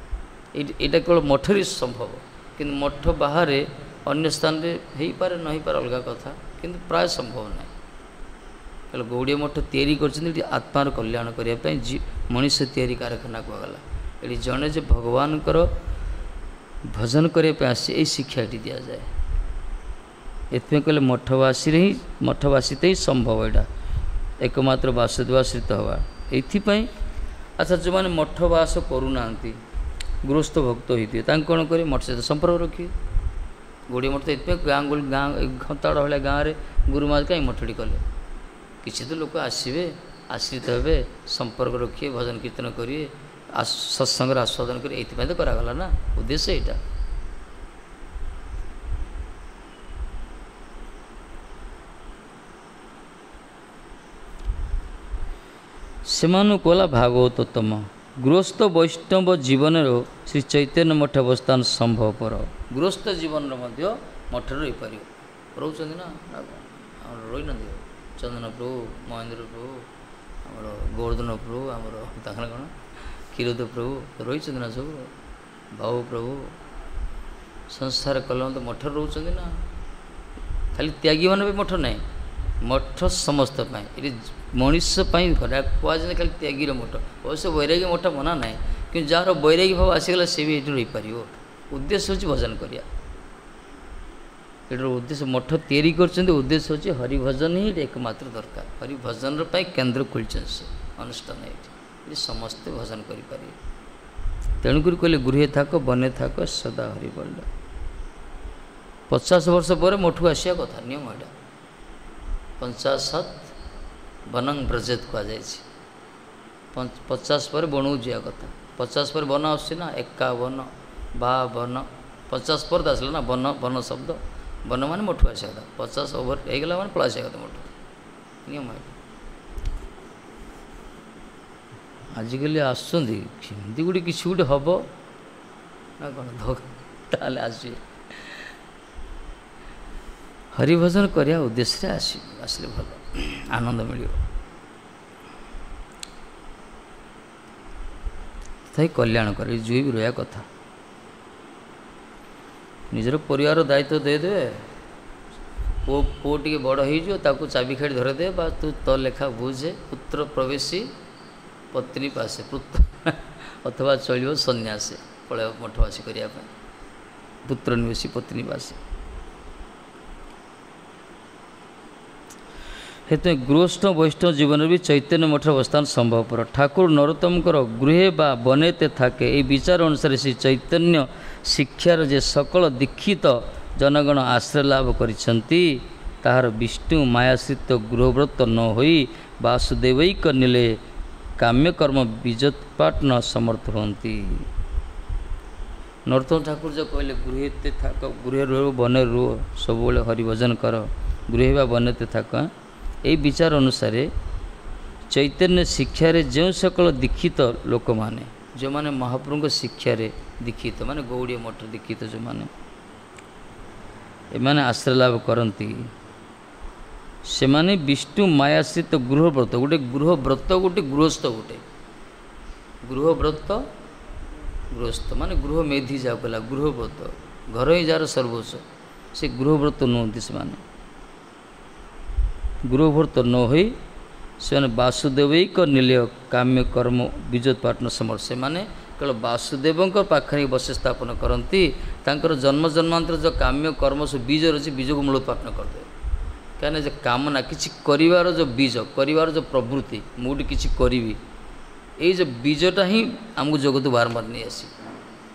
[SPEAKER 1] ଏଇଠି ଏଇଟା କେବଳ ମଠରେ ସମ୍ଭବ, କିନ୍ତୁ ମଠ ବାହାରେ ଅନ୍ୟ ସ୍ଥାନରେ ହେଇପାରେ ନ ହେଇପାରେ ଅଲଗା କଥା, କିନ୍ତୁ ପ୍ରାୟ ସମ୍ଭବ ନାହିଁ। ହେଲେ ଗୌଡ଼ୀୟ ମଠ ତିଆରି କରିଛନ୍ତି ଏଠି ଆତ୍ମାର କଲ୍ୟାଣ କରିବା ପାଇଁ, ମଣିଷ ତିଆରି କାରଖାନା କୁହାଗଲା। ଏଠି ଜଣେ ଯେ ଭଗବାନଙ୍କର ଭଜନ କରିବା ପାଇଁ ଆସି ଏଇ ଶିକ୍ଷା ଏଠି ଦିଆଯାଏ। ଏଥିପାଇଁ କହିଲେ ମଠବାସୀରେ ହିଁ, ମଠବାସୀতে ହିଁ ସମ୍ଭବ ଏଇଟା, ଏକମାତ୍ର ବାସୁଦେବାଶ୍ରିତ ହେବା ଏଇଥିପାଇଁ। ଆଚ୍ଛା, ଯେଉଁମାନେ ମଠବାସ କରୁନାହାନ୍ତି, ଗୃହସ୍ଥ ଭକ୍ତ ହେଇଥିବେ, ତାଙ୍କୁ କ'ଣ କରିବେ? ମଠ ସହିତ ସମ୍ପର୍କ ରଖିବେ। ଗୌଡ଼ୀୟ ମଠ ତ ଏଥିପାଇଁ ଗାଁ ଗାଁ ଖନ୍ତାଡ଼ ଭଳିଆ ଗାଁରେ ଗୁରୁମା କାହିଁ ମଠଟି କଲେ? କିଛି ତ ଲୋକ ଆସିବେ, ଆଶ୍ରିତ ହେବେ, ସମ୍ପର୍କ ରଖିବେ, ଭଜନ କୀର୍ତ୍ତନ କରିବେ, ସତ୍ସଙ୍ଗର ଆସ୍ୱାଦନ କରିବେ, ଏଇଥିପାଇଁ ତ କରାଗଲା ନା, ଉଦ୍ଦେଶ୍ୟ ଏଇଟା। ସେମାନଙ୍କୁ କଲା ଭାଗବତୋତ୍ତମ ଗୃହସ୍ଥ ବୈଷ୍ଣବ ଜୀବନର ଶ୍ରୀ ଚୈତନ୍ୟ ମଠ ଅବସ୍ଥାନ ସମ୍ଭବପର। ଗୃହସ୍ଥ ଜୀବନର ମଧ୍ୟ ମଠରେ ରହିପାରିବ। ରହୁଛନ୍ତି ନା ଆମର ରହିନାହାନ୍ତି? ଚନ୍ଦନ ପ୍ରଭୁ, ମହେନ୍ଦ୍ର ପ୍ରଭୁ, ଆମର ଗୋବର୍ଦ୍ଧନ ପ୍ରଭୁ, ଆମର ତାଙ୍କର କ'ଣ କ୍ଷୀରୋଦ ପ୍ରଭୁ ରହିଛନ୍ତି ନା ସବୁ, ବାବୁ ପ୍ରଭୁ। ସଂସାର କଲେ ତ ମଠରେ ରହୁଛନ୍ତି ନା। ଖାଲି ତ୍ୟାଗୀମାନେ ବି ମଠ ନାହିଁ, ମଠ ସମସ୍ତ ପାଇଁ, ଏଠି ମଣିଷ ପାଇଁ କୁହାଯାଏ ଖାଲି ତ୍ୟାଗୀର ମଠ। ଅବଶ୍ୟ ବୈରାଗୀ ମଠ ମନା ନାହିଁ, କିନ୍ତୁ ଯାହାର ବୈରାଗୀ ଭାବ ଆସିଗଲା ସେ ବି ଏଠି ରହିପାରିବ। ଉଦ୍ଦେଶ୍ୟ ହେଉଛି ଭଜନ କରିବା। ଏଠିର ଉଦ୍ଦେଶ୍ୟ ମଠ ତିଆରି କରିଛନ୍ତି, ଉଦ୍ଦେଶ୍ୟ ହେଉଛି ହରିଭଜନ ହିଁ ଏଠି ଏକମାତ୍ର ଦରକାର। ହରିଭଜନର ପାଇଁ କେନ୍ଦ୍ର ଖୋଲିଛନ୍ତି ସେ ଅନୁଷ୍ଠାନ, ଏଇଠି ଏଠି ସମସ୍ତେ ଭଜନ କରିପାରିବେ। ତେଣୁକରି କହିଲେ ଗୃହେ ଥାକ ବନେ ଥାକ ସଦା ହରିବଲ୍ଲ। ପଚାଶ ବର୍ଷ ପରେ ମଠକୁ ଆସିବା କଥା, ନିୟମ ଏଇଟା। ପଞ୍ଚାଶତ ବନଂ ବ୍ରଜେତ କୁହାଯାଇଛି, ପଚାଶ ପରେ ବଣକୁ ଯିବା କଥା। ପଚାଶ ପରେ ବନ ଆସୁଛି ନା, ଏକାବନ ବାବନ, ପଚାଶ ପରେ ତ ଆସିଲା ନା ବନ, ବନ ଶବ୍ଦ, ବନ ମାନେ ମଠକୁ ଆସିବା କଥା। ପଚାଶ ଓଭର ହେଇଗଲା ମାନେ ପଳେଇ ଆସିବା କଥା ମଠ, ନିୟମ ଏଇଟା। ଆଜିକାଲି ଆସୁଛନ୍ତି ସେମିତି ଗୋଟେ କିଛି ଗୋଟେ ହେବ ନା କ'ଣ, ତାହେଲେ ଆସିବେ ହରିଭଜନ କରିବା ଉଦ୍ଦେଶ୍ୟରେ ଆସିବେ, ଆସିଲେ ଭଲ ଆନନ୍ଦ ମିଳିବ, ତଥାପି କଲ୍ୟାଣ କରେ ଯିଏ ବି ରହିବା କଥା। ନିଜର ପରିବାର ଦାୟିତ୍ୱ ଦେଇଦେବେ, ପୁଅ ପୁଅ ଟିକେ ବଡ଼ ହେଇଯିବ, ତାକୁ ଚାବି ଖାଡ଼ି ଧରେଇଦେବେ, ବା ତୁ ତୋ ଲେଖା ବୁଝେ, ପୁତ୍ର ପ୍ରବେଶୀ ପତ୍ନୀ ପାଶେ, ପୁତ୍ର ଅଥବା ଚଳିବ ସନ୍ନ୍ୟାସେ, ପଳେଇବ ମଠବାସୀ କରିବା ପାଇଁ, ପୁତ୍ର ନିବେଶୀ ପତ୍ନୀ ପାଶେ। ସେଥିପାଇଁ ଗୃହସ୍ଥ ବୈଷ୍ଣବ ଜୀବନରେ ବି ଚୈତନ୍ୟ ମଠର ଅବସ୍ଥାନ ସମ୍ଭବପର। ଠାକୁର ନରୋତ୍ତମଙ୍କର ଗୃହେ ବା ବନେତେ ଥାକେ, ଏହି ବିଚାର ଅନୁସାରେ ଶ୍ରୀ ଚୈତନ୍ୟ ଶିକ୍ଷାର ଯେ ସକଳ ଦୀକ୍ଷିତ ଜନଗଣ ଆଶ୍ରୟ ଲାଭ କରିଛନ୍ତି, ତାହାର ବିଷ୍ଣୁ ମାୟାଶ୍ରିତ ଗୃହବ୍ରତ ନ ହୋଇ ବାସୁଦେବୈକ ନିଲେ କାମ୍ୟକର୍ମ ବୀଜୋତ୍ପାଟନ ସମର୍ଥ ହୁଅନ୍ତି। ନରୋତ୍ତମ ଠାକୁର ଯେଉଁ କହିଲେ ଗୃହେତେ ଥାକ, ଗୃହେ ରୁହ ବନେ ରୁହ, ସବୁବେଳେ ହରିଭଜନ କର, ଗୃହେ ବା ବନେତେ ଥାକ, ଏହି ବିଚାର ଅନୁସାରେ ଚୈତନ୍ୟ ଶିକ୍ଷାରେ ଯେଉଁ ସକଳ ଦୀକ୍ଷିତ ଲୋକମାନେ, ଯେଉଁମାନେ ମହାପ୍ରଭୁଙ୍କ ଶିକ୍ଷାରେ ଦୀକ୍ଷିତ, ମାନେ ଗୌଡ଼ୀୟ ମଠ ଦୀକ୍ଷିତ ଯେଉଁମାନେ, ଏମାନେ ଆଶ୍ରୟ ଲାଭ କରନ୍ତି, ସେମାନେ ବିଷ୍ଣୁ ମାୟାଶ୍ରିତ ଗୃହବ୍ରତ, ଗୋଟେ ଗୃହବ୍ରତ ଗୋଟେ ଗୃହସ୍ଥ, ଗୋଟେ ଗୃହବ୍ରତ ଗୃହସ୍ଥ ମାନେ ଗୃହ ମେଧି ଯାହାକୁ କହିଲା ଗୃହବ୍ରତ, ଘର ହିଁ ଯାହାର ସର୍ବସ୍ୱ, ସେ ଗୃହବ୍ରତ ନୁହନ୍ତି। ସେମାନେ ଗୃହବ୍ରତ ନ ହୋଇ ସେମାନେ ବାସୁଦେବୈକ ନିଲୟ କାମ୍ୟ କର୍ମ ବୀଜୋତ୍ପାଟନ ସମର୍ଥ। ସେମାନେ କେବଳ ବାସୁଦେବଙ୍କ ପାଖରେ ବସତି ସ୍ଥାପନ କରନ୍ତି। ତାଙ୍କର ଜନ୍ମ ଜନ୍ମାନ୍ତର ଯେଉଁ କାମ୍ୟ କର୍ମ ସବୁ ବୀଜ ରହିଛି, ବୀଜକୁ ମୂଳୋତ୍ପାଟନ କରିଦେବେ। କାହିଁକିନା ଯେ କାମନା କିଛି କରିବାର ଯେଉଁ ବୀଜ, କରିବାର ଯେଉଁ ପ୍ରବୃତ୍ତି, ମୁଁ ଗୋଟେ କିଛି କରିବି, ଏଇ ଯେଉଁ ବୀଜଟା ହିଁ ଆମକୁ ଜଗତକୁ ବାରମ୍ବାର ନେଇ ଆସିବ।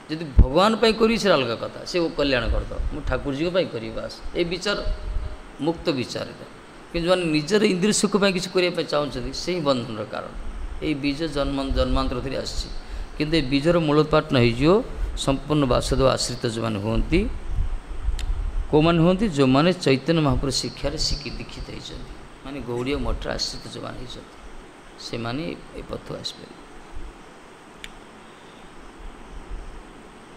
[SPEAKER 1] ଯଦି ଭଗବାନ ପାଇଁ କରିବି ସେଇଟା ଅଲଗା କଥା, ସେ କଲ୍ୟାଣ କରିଦେବ, ମୁଁ ଠାକୁରଜୀଙ୍କ ପାଇଁ କରିବି, ବାସ୍। ଏ ବିଚାର ମୁକ୍ତ ବିଚାର ଏଇଟା। କିନ୍ତୁ ଯେଉଁମାନେ ନିଜର ଇନ୍ଦ୍ରିୟ ସୁଖ ପାଇଁ କିଛି କରିବା ପାଇଁ ଚାହୁଁଛନ୍ତି, ସେଇ ବନ୍ଧନର କାରଣ। ଏଇ ବୀଜ ଜନ୍ମ ଜନ୍ମାନ୍ତର ଧରି ଆସିଛି, କିନ୍ତୁ ଏ ବୀଜର ମୂଳୋତ୍ପାଟନ ହେଇଯିବ ସମ୍ପୂର୍ଣ୍ଣ ବାସୁଦେବ ଆଶ୍ରିତ ଯେଉଁମାନେ ହୁଅନ୍ତି। କେଉଁମାନେ ହୁଅନ୍ତି? ଯେଉଁମାନେ ଚୈତନ୍ୟ ମହାପ୍ରଭୁ ଶିକ୍ଷାରେ ଶିଖି ଦୀକ୍ଷିତ ହେଇଛନ୍ତି, ମାନେ ଗୌଡ଼ୀୟ ମଠରେ ଆଶ୍ରିତ ଯେଉଁମାନେ ହେଇଛନ୍ତି, ସେମାନେ ଏ ପଥକୁ ଆସିପାରିବେ।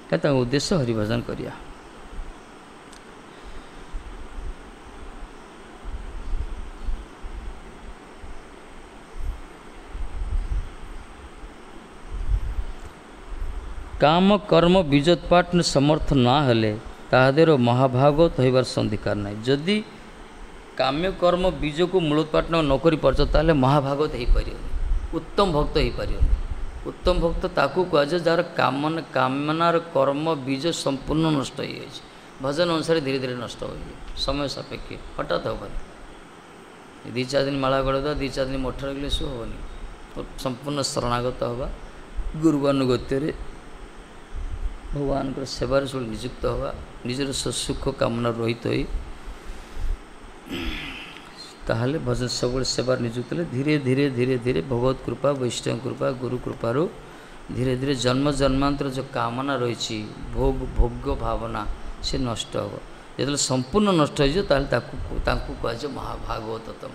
[SPEAKER 1] କାରଣ ତାଙ୍କ ଉଦ୍ଦେଶ୍ୟ ହରିଭଜନ କରିବା। କାମ କର୍ମ ବୀଜୋତ୍ପାଟନ ସମର୍ଥ ନ ହେଲେ ତାହା ଦେହର ମହାଭାଗବତ ହେବାର ଅଧିକାର ନାହିଁ। ଯଦି କାମ୍ୟ କର୍ମ ବୀଜକୁ ମୂଳୋତ୍ପାଟନ ନ କରିପାରୁଛ, ତାହେଲେ ମହାଭାଗବତ ହେଇପାରିବନି, ଉତ୍ତମ ଭକ୍ତ ହେଇପାରିବନି। ଉତ୍ତମ ଭକ୍ତ ତାକୁ କୁହାଯାଏ ଯାହାର କାମନା କାମନାର କର୍ମ ବୀଜ ସମ୍ପୂର୍ଣ୍ଣ ନଷ୍ଟ ହେଇଯାଇଛି। ଭଜନ ଅନୁସାରେ ଧୀରେ ଧୀରେ ନଷ୍ଟ ହୋଇଯିବ, ସମୟ ସାପେକ୍ଷ, ହଠାତ୍ ହେବନି। ଦୁଇ ଚାରି ଦିନ ମାଳା ଗଳେଇଦେବା, ଦୁଇ ଚାରି ଦିନ ମଠ ରଖିଲେ ସବୁ ହେବନି। ସମ୍ପୂର୍ଣ୍ଣ ଶରଣାଗତ ହେବା, ଗୁରୁବାନୁଗତ୍ୟରେ ଭଗବାନଙ୍କର ସେବାରେ ସବୁ ନିଯୁକ୍ତ ହେବା, ନିଜର ସୁଖ କାମନା ରହିତ ହୋଇ ତାହେଲେ ଭଜନ ସବୁବେଳେ ସେବାରେ ନିଯୁକ୍ତ ହେଲେ ଧୀରେ ଧୀରେ ଧୀରେ ଧୀରେ ଭଗବତ କୃପା, ବୈଷ୍ଣବ କୃପା, ଗୁରୁ କୃପାରୁ ଧୀରେ ଧୀରେ ଜନ୍ମ ଜନ୍ମାନ୍ତର ଯେଉଁ କାମନା ରହିଛି, ଭୋଗ ଭୋଗ ଭାବନା, ସେ ନଷ୍ଟ ହେବ। ଯେତେବେଳେ ସମ୍ପୂର୍ଣ୍ଣ ନଷ୍ଟ ହେଇଯିବ, ତାହେଲେ ତାକୁ ତାଙ୍କୁ କୁହାଯିବ ମହାଭାଗବତତମ।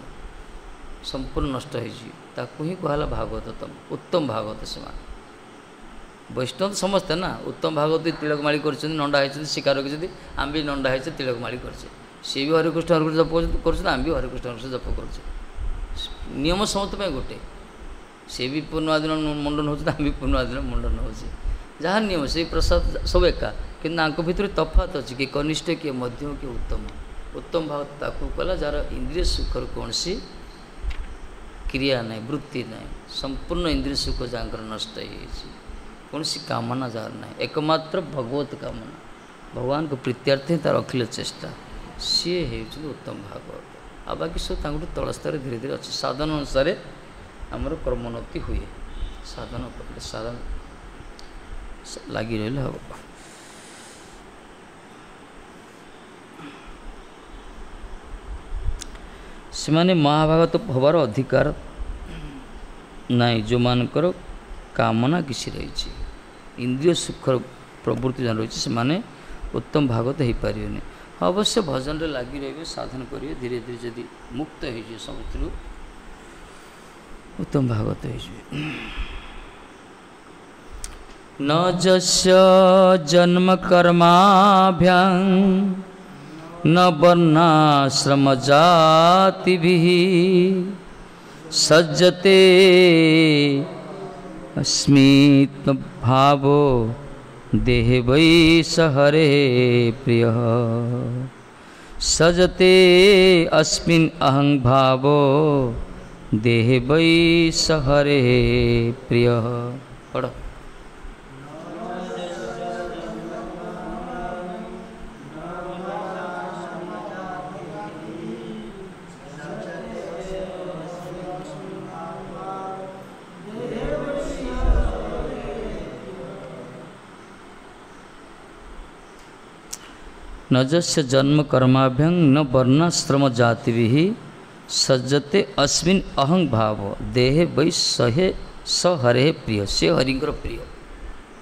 [SPEAKER 1] ସମ୍ପୂର୍ଣ୍ଣ ନଷ୍ଟ ହେଇଯିବ, ତାକୁ ହିଁ କୁହାହେଲା ଭାଗବତତମ, ଉତ୍ତମ ଭାଗବତ। ସେମାନେ ବୈଷ୍ଣବ ତ ସମସ୍ତେ ନା, ଉତ୍ତମ ଭାଗବତ ତିଳକ ମାଳି କରିଛନ୍ତି, ନଣ୍ଡା ହେଇଛନ୍ତି, ଶିକାର ରଖିଛନ୍ତି। ଆମେ ବି ନଣ୍ଡା ହେଇଛେ, ତିଳକ ମାଳି କରିଛେ। ସିଏ ବି ହରେକୃଷ୍ଣ ହରେକୃଷ୍ଣ ଜପ କରୁଛନ୍ତି, ଆମେ ବି ହରେକୃଷ୍ଣ ହରେକୃଷ୍ଣ ଜପ କରୁଛେ। ନିୟମ ସମସ୍ତ ପାଇଁ ଗୋଟେ। ସିଏ ବି ପୂର୍ଣ୍ଣିମା ଦିନ ମୁଣ୍ଡନ ହେଉଛନ୍ତି, ଆମେ ବି ପୂର୍ଣ୍ଣିମା ଦିନ ମୁଣ୍ଡନ ହେଉଛି। ଯାହା ନିୟମ ସେଇ ପ୍ରସାଦ ସବୁ ଏକା, କିନ୍ତୁ ତାଙ୍କ ଭିତରେ ତଫାତ ଅଛି, କିଏ କନିଷ୍ଠ, କିଏ ମଧ୍ୟମ, କିଏ ଉତ୍ତମ। ଉତ୍ତମ ଭାବ ତାକୁ କଲା ଯାହାର ଇନ୍ଦ୍ରିୟ ସୁଖର କୌଣସି କ୍ରିୟା ନାହିଁ, ବୃତ୍ତି ନାହିଁ, ସମ୍ପୂର୍ଣ୍ଣ ଇନ୍ଦ୍ରିୟ ସୁଖ ଯାହାଙ୍କର ନଷ୍ଟ ହେଇଯାଇଛି, କୌଣସି କାମନା ଯାହାର ନାହିଁ, ଏକମାତ୍ର ଭଗବତ କାମନା, ଭଗବାନଙ୍କ ପ୍ରୀତ୍ୟାର୍ଥେ ହିଁ ତାର ଅଖିଳ ଚେଷ୍ଟା, ସିଏ ହେଉଛନ୍ତି ଉତ୍ତମ ଭାଗବତ। ଆଉ ବାକି ସବୁ ତାଙ୍କଠୁ ତଳ ସ୍ତରରେ ଧୀରେ ଧୀରେ ଅଛି। ସାଧନ ଅନୁସାରେ ଆମର କ୍ରମୋନ୍ନତି ହୁଏ। ସାଧନ କଲେ, ସାଧନ ଲାଗି ରହିଲେ ହେବ। ସେମାନେ ମହାଭାଗତ ହେବାର ଅଧିକାର ନାହିଁ ଯେଉଁମାନଙ୍କର କାମନା କିଛି ରହିଛି, ଇନ୍ଦ୍ରିୟ ସୁଖର ପ୍ରବୃତ୍ତି ଯାହା ରହିଛି, ସେମାନେ ଉତ୍ତମ ଭାଗବତ ହେଇପାରିବେନି। ଅବଶ୍ୟ ଭଜନରେ ଲାଗି ରହିବେ, ସାଧନ କରିବେ, ଧୀରେ ଧୀରେ ଯଦି ମୁକ୍ତ ହେଇଯିବେ ସବୁଥିରୁ, ଉତ୍ତମ ଭାଗବତ ହେଇଯିବେ। ନ ଯସ୍ୟ ଜନ୍ମ କର୍ମାଭ୍ୟାଂ ନ ବର୍ଣ୍ଣାଶ୍ରମ ଜାତିଭିः ସଜ୍ଜତେ अस्मित् भावो देहे वै स हरे प्रियः। सजते अस्मिन् अहं भावो देहे वै स हरे प्रियः। पढ़ो। न जस्य जन्म कर्माभ्यं न वर्णाश्रम जातिभिः सज्जते अस्मिन् अहं भाव देहे वै सहे स हरे प्रिय। ସେ ହରିଙ୍କର ପ୍ରିୟ,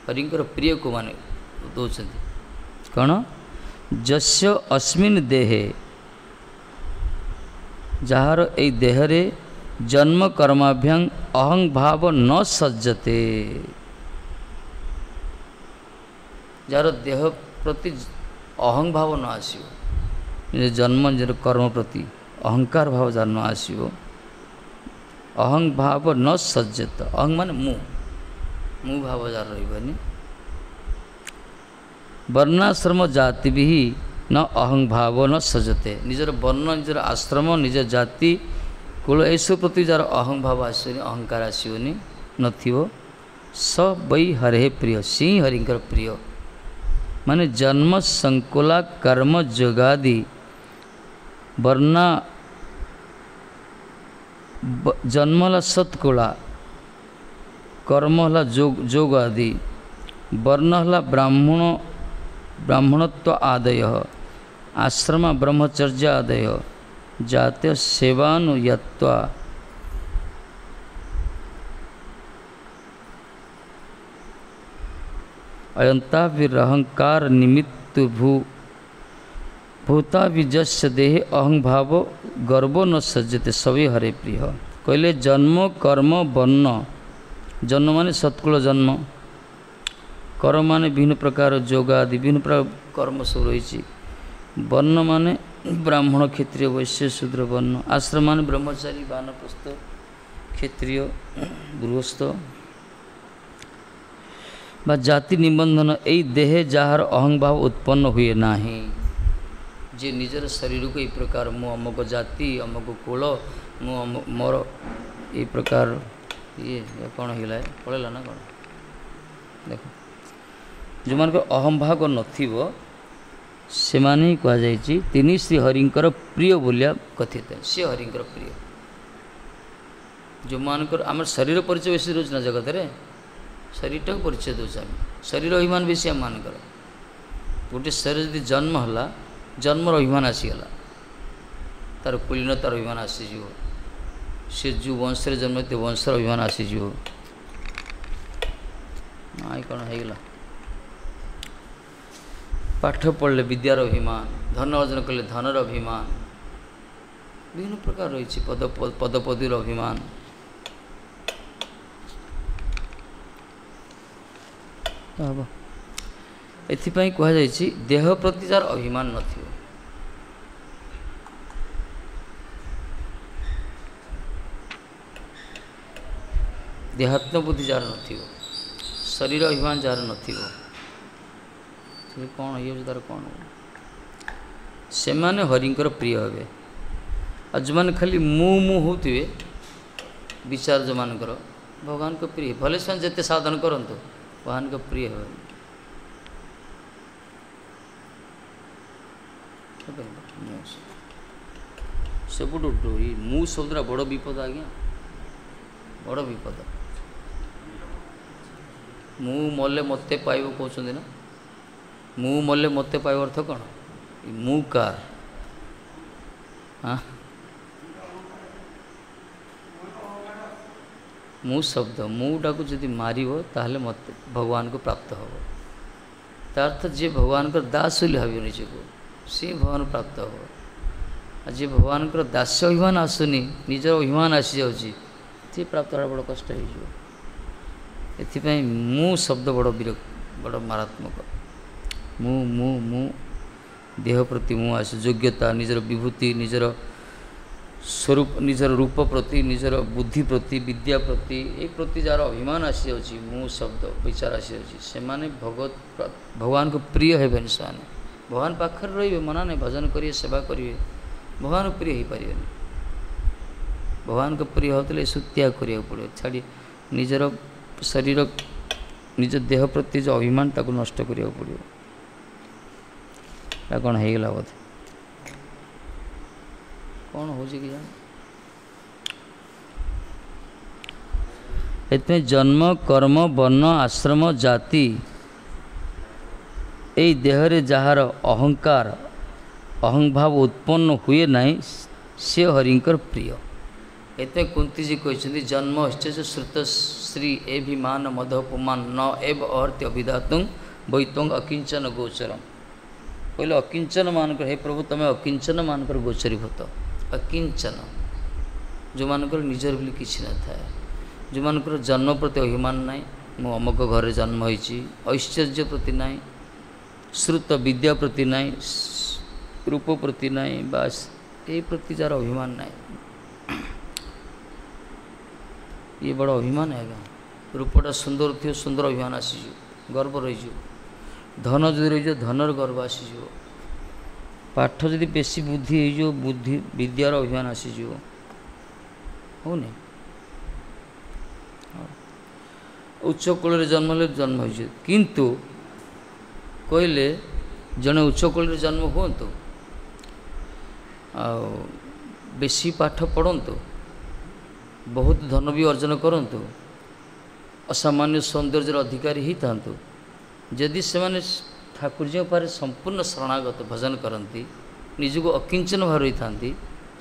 [SPEAKER 1] ହରିଙ୍କର ପ୍ରିୟକୁ ମାନେ ଦେଉଛନ୍ତି କ'ଣ? ଯସ୍ୟ ଅସ୍ମିନ୍ ଦେହେ, ଯାହାର ଏଇ ଦେହରେ ଜନ୍ମ କର୍ମାଭ୍ୟାଂ ଅହଂ ଭାବ ନ ସଜ୍ଜତେ, ଯାହାର ଦେହ ପ୍ରତି ଅହଂ ଭାବ ନ ଆସିବ, ନିଜ ଜନ୍ମ ନିଜର କର୍ମ ପ୍ରତି ଅହଙ୍କାର ଭାବ ଯାହାର ନ ଆସିବ, ଅହଂ ଭାବ ନ ସଜ୍ଜତ, ଅହଂ ମାନେ ମୁଁ, ମୁଁ ଭାବ ଯାହାର ରହିବନି, ବର୍ଣ୍ଣାଶ୍ରମ ଜାତି ବି ନ ଅହଂ ଭାବ ନ ସଜତେ, ନିଜର ବର୍ଣ୍ଣ, ନିଜର ଆଶ୍ରମ, ନିଜ ଜାତି କୁଳ ଏସବୁ ପ୍ରତି ଯାହାର ଅହଂଭାବ ଆସିବନି, ଅହଙ୍କାର ଆସିବନି, ନଥିବ, ସ ବୈ ହରେ ପ୍ରିୟ, ସିଂ ହରିଙ୍କର ପ୍ରିୟ। ମାନେ ଜନ୍ମ ସଂକୁଲା କର୍ମ ଯୋଗାଦି ବର୍ଣ୍ଣ, ଜନ୍ମ ହେଲା ସତ୍କୁଳା, କର୍ମ ହେଲା ଯୋଗ ଯୋଗ ଆଦି, ବର୍ଣ୍ଣ ହେଲା ବ୍ରାହ୍ମଣ ବ୍ରାହ୍ମଣତ୍ୱ ଆଦୟ, ଆଶ୍ରମ ବ୍ରହ୍ମଚର୍ଯ୍ୟ ଆଦୟ, ଜାତୀୟ ସେବାନୁୟତ୍ୱ ଅୟନ୍ତାବିରହଙ୍କାର ନିମିତ୍ତ ଭୂ ଭୂତାବିଜସ୍ୟ ଦେହେ ଅହଂଭାବ ଗର୍ବ ନ ସଜ୍ଜତେ ସବେ ହରେ ପ୍ରିୟ। କହିଲେ ଜନ୍ମ କର୍ମ ବର୍ଣ୍ଣ, ଜନ୍ମ ମାନେ ସତ୍କୁଳ ଜନ୍ମ, କର୍ମ ମାନେ ବିଭିନ୍ନ ପ୍ରକାର ଯୋଗ ଆଦି ବିଭିନ୍ନ ପ୍ରକାର କର୍ମ ସବୁ ରହିଛି, ବର୍ଣ୍ଣ ମାନେ ବ୍ରାହ୍ମଣ କ୍ଷତ୍ରିୟ ବୈଶ୍ୟ ଶୂଦ୍ର ବର୍ଣ୍ଣ, ଆଶ୍ରମ ମାନେ ବ୍ରହ୍ମଚାରୀ ବାନପ୍ରସ୍ଥ କ୍ଷତ୍ରିୟ ଗୃହସ୍ଥ ବା ଜାତି ନିବନ୍ଧନ, ଏଇ ଦେହେ ଯାହାର ଅହଂଭାବ ଉତ୍ପନ୍ନ ହୁଏ ନାହିଁ, ଯେ ନିଜର ଶରୀରକୁ ଏଇ ପ୍ରକାର ମୁଁ ଅମୁକ ଜାତି ଅମୁକ କୁଳ ମୁଁ ମୋର ଏଇ ପ୍ରକାର ଇଏ କ'ଣ ହେଇଗଲା ପଳେଇଲା ନା କ'ଣ, ଦେଖ ଯେଉଁମାନଙ୍କର ଅହଂଭାବ ନଥିବ ସେମାନେ ହିଁ କୁହାଯାଇଛି ତିନି ଶ୍ରୀ ହରିଙ୍କର ପ୍ରିୟ ବୋଲିଆ କଥିତ, ସେ ହରିଙ୍କର ପ୍ରିୟ। ଯେଉଁମାନଙ୍କର ଆମର ଶରୀର ପରିଚୟ ବେଶୀ ରହୁଛି ନା ଜଗତରେ, ଶରୀରଟାକୁ ପରିଚୟ ଦେଉଛୁ ଆମେ, ଶରୀର ଅଭିମାନ ବେଶୀ ଆମମାନଙ୍କର। ଗୋଟେ ଶରୀର ଯଦି ଜନ୍ମ ହେଲା, ଜନ୍ମର ଅଭିମାନ ଆସିଗଲା, ତାର କୁଲୀନତାର ଅଭିମାନ ଆସିଯିବ, ସେ ଯେଉଁ ବଂଶରେ ଜନ୍ମ ହେଇଥିବ ବଂଶର ଅଭିମାନ ଆସିଯିବ। ନାଇଁ କ'ଣ ହେଇଗଲା, ପାଠ ପଢ଼ିଲେ ବିଦ୍ୟାର ଅଭିମାନ, ଧନ ଅର୍ଜନ କଲେ ଧନର ଅଭିମାନ, ବିଭିନ୍ନ ପ୍ରକାର ରହିଛି ପଦ ପଦପଦୀର ଅଭିମାନ। ହେବ ଏଥିପାଇଁ କୁହାଯାଇଛି ଦେହ ପ୍ରତି ଯାହାର ଅଭିମାନ ନଥିବ। ଦେହାତ୍ମବୁଦ୍ଧି ଯାହାର ନଥିବ, ଶରୀର ଅଭିମାନ ଯାହାର ନଥିବ, ସେ କ'ଣ ହେଇଯାଉଛି ତାର କ'ଣ, ସେମାନେ ହରିଙ୍କର ପ୍ରିୟ ହେବେ। ଆଉ ଯେଉଁମାନେ ଖାଲି ମୁଁ ମୁଁ ହେଉଥିବେ, ବିଚାର ଯେଉଁମାନଙ୍କର ଭଗବାନଙ୍କ ପ୍ରିୟ, ଭଲେ ସେମାନେ ଯେତେ ସାଧନ କରନ୍ତୁ ଭଗବାନଙ୍କ ପ୍ରିୟ ହେବେନି। ସବୁଠୁ ଏଇ ମୁଁ ଶବ୍ଦଟା ବଡ଼ ବିପଦ ଆଜ୍ଞା, ବଡ଼ ବିପଦ। ମୁଁ ମଲେ ମୋତେ ପାଇବ କହୁଛନ୍ତି ନା, ମୁଁ ମଲେ ମୋତେ ପାଇବ ଅର୍ଥ କ'ଣ? ମୁଁ କାର? ହଁ, ମୁଁ ଶବ୍ଦ, ମୁଁଟାକୁ ଯଦି ମାରିବ ତାହେଲେ ମୋତେ ଭଗବାନଙ୍କୁ ପ୍ରାପ୍ତ ହେବ। ତା ଅର୍ଥ ଯିଏ ଭଗବାନଙ୍କର ଦାସ ବୋଲି ଭାବିବ ନିଜକୁ, ସିଏ ଭଗବାନ ପ୍ରାପ୍ତ ହେବ। ଆଉ ଯିଏ ଭଗବାନଙ୍କର ଦାସ୍ୟ ଅଭିମାନ ଆସୁନି, ନିଜର ଅଭିମାନ ଆସିଯାଉଛି, ସିଏ ପ୍ରାପ୍ତ ହେବା ବଡ଼ କଷ୍ଟ ହେଇଯିବ। ଏଥିପାଇଁ ମୁଁ ଶବ୍ଦ ବଡ଼ ବିରକ୍ତ, ବଡ଼ ମାରାତ୍ମକ। ମୁଁ ମୁଁ ମୁଁ ଦେହ ପ୍ରତି ମୁଁ ଆସେ, ଯୋଗ୍ୟତା, ନିଜର ବିଭୂତି, ନିଜର ସ୍ୱରୂପ, ନିଜର ରୂପ ପ୍ରତି, ନିଜର ବୁଦ୍ଧି ପ୍ରତି, ବିଦ୍ୟା ପ୍ରତି, ଏ ପ୍ରତି ଯାହାର ଅଭିମାନ ଆସିଯାଉଛି, ମୁଁ ଶବ୍ଦ ବିଚାର ଆସିଯାଉଛି, ସେମାନେ ଭଗବତ ଭଗବାନଙ୍କୁ ପ୍ରିୟ ହେବେନି। ସେମାନେ ଭଗବାନ ପାଖରେ ରହିବେ, ମନା ନାହିଁ, ଭଜନ କରିବେ, ସେବା କରିବେ, ଭଗବାନଙ୍କୁ ପ୍ରିୟ ହେଇପାରିବେନି। ଭଗବାନଙ୍କ ପ୍ରିୟ ହେଉଥିଲେ ଏସବୁ ତ୍ୟାଗ କରିବାକୁ ପଡ଼ିବ, ଛାଡ଼ି ନିଜର ଶରୀର, ନିଜ ଦେହ ପ୍ରତି ଯେଉଁ ଅଭିମାନ ତାକୁ ନଷ୍ଟ କରିବାକୁ ପଡ଼ିବ। ଏଟା କ'ଣ ହେଇଗଲା ବୋଧେ, କ'ଣ ହେଉଛି କି ଜାଣି। ଏଥିପାଇଁ ଜନ୍ମ କର୍ମ ବର୍ଣ୍ଣ ଆଶ୍ରମ ଜାତି, ଏଇ ଦେହରେ ଯାହାର ଅହଙ୍କାର ଅହଂଭାବ ଉତ୍ପନ୍ନ ହୁଏ ନାହିଁ, ସେ ହରିଙ୍କର ପ୍ରିୟ। ଏଥିପାଇଁ କୁନ୍ତୀଜୀ କହିଛନ୍ତି ଜନ୍ମ ଶ୍ରୁତ ଶ୍ରୀ ଏଭିମାନ ମଧପୁମାନ ନ ଏବ ଅହର୍ତ୍ୟ ଅଭିଧାତୁଂ ବୈତ୍ୱଂ ଅକିଞ୍ଚନ ଗୋଚରಂ। କହିଲେ ଅକିଞ୍ଚନ ମାନଙ୍କର, ହେ ପ୍ରଭୁ ତୁମେ ଅକିଞ୍ଚନ ମାନଙ୍କର ଗୋଚରୀଭୂତ। ଅକିଞ୍ଚନ ଯେଉଁମାନଙ୍କର ନିଜର ବୋଲି କିଛି ନଥାଏ, ଯେଉଁମାନଙ୍କର ଜନ୍ମ ପ୍ରତି ଅଭିମାନ ନାହିଁ, ମୁଁ ଅମୁକ ଘରେ ଜନ୍ମ ହୋଇଛି, ଐଶ୍ୱର୍ଯ୍ୟ ପ୍ରତି ନାହିଁ, ଶ୍ରୁତ ବିଦ୍ୟା ପ୍ରତି ନାହିଁ, ରୂପ ପ୍ରତି ନାହିଁ, ବାସ୍ ଏଇ ପ୍ରତି ଯାହାର ଅଭିମାନ ନାହିଁ, ଇଏ ବଡ଼ ଅଭିମାନ ଆଜ୍ଞା। ରୂପଟା ସୁନ୍ଦର ଥିବ, ସୁନ୍ଦର ଅଭିମାନ ଆସିଯିବ, ଗର୍ବ ରହିଯିବ। ଧନ ଯଦି ରହିଯିବ, ଧନର ଗର୍ବ ଆସିଯିବ। ପାଠ ଯଦି ବେଶୀ ବୁଦ୍ଧି ହେଇଯିବ, ବୁଦ୍ଧି ବିଦ୍ୟାର ଅଭିମାନ ଆସିଯିବ। ହେଉନି? ଉଚ୍ଚ କୂଳରେ ଜନ୍ମ ହେଲେ ଜନ୍ମ ହେଇଛି, କିନ୍ତୁ କହିଲେ ଜଣେ ଉଚ୍ଚ କୂଳରେ ଜନ୍ମ ହୁଅନ୍ତୁ ଆଉ ବେଶୀ ପାଠ ପଢ଼ନ୍ତୁ, ବହୁତ ଧନ ବି ଅର୍ଜନ କରନ୍ତୁ, ଅସାମାନ୍ୟ ସୌନ୍ଦର୍ଯ୍ୟର ଅଧିକାରୀ ହେଇଥାନ୍ତୁ, ଯଦି ସେମାନେ ଠାକୁରଜୀଙ୍କ ପାଖରେ ସମ୍ପୂର୍ଣ୍ଣ ଶରଣାଗତ ଭଜନ କରନ୍ତି, ନିଜକୁ ଅକିଞ୍ଚନ ଭାବେ ରହିଥାନ୍ତି,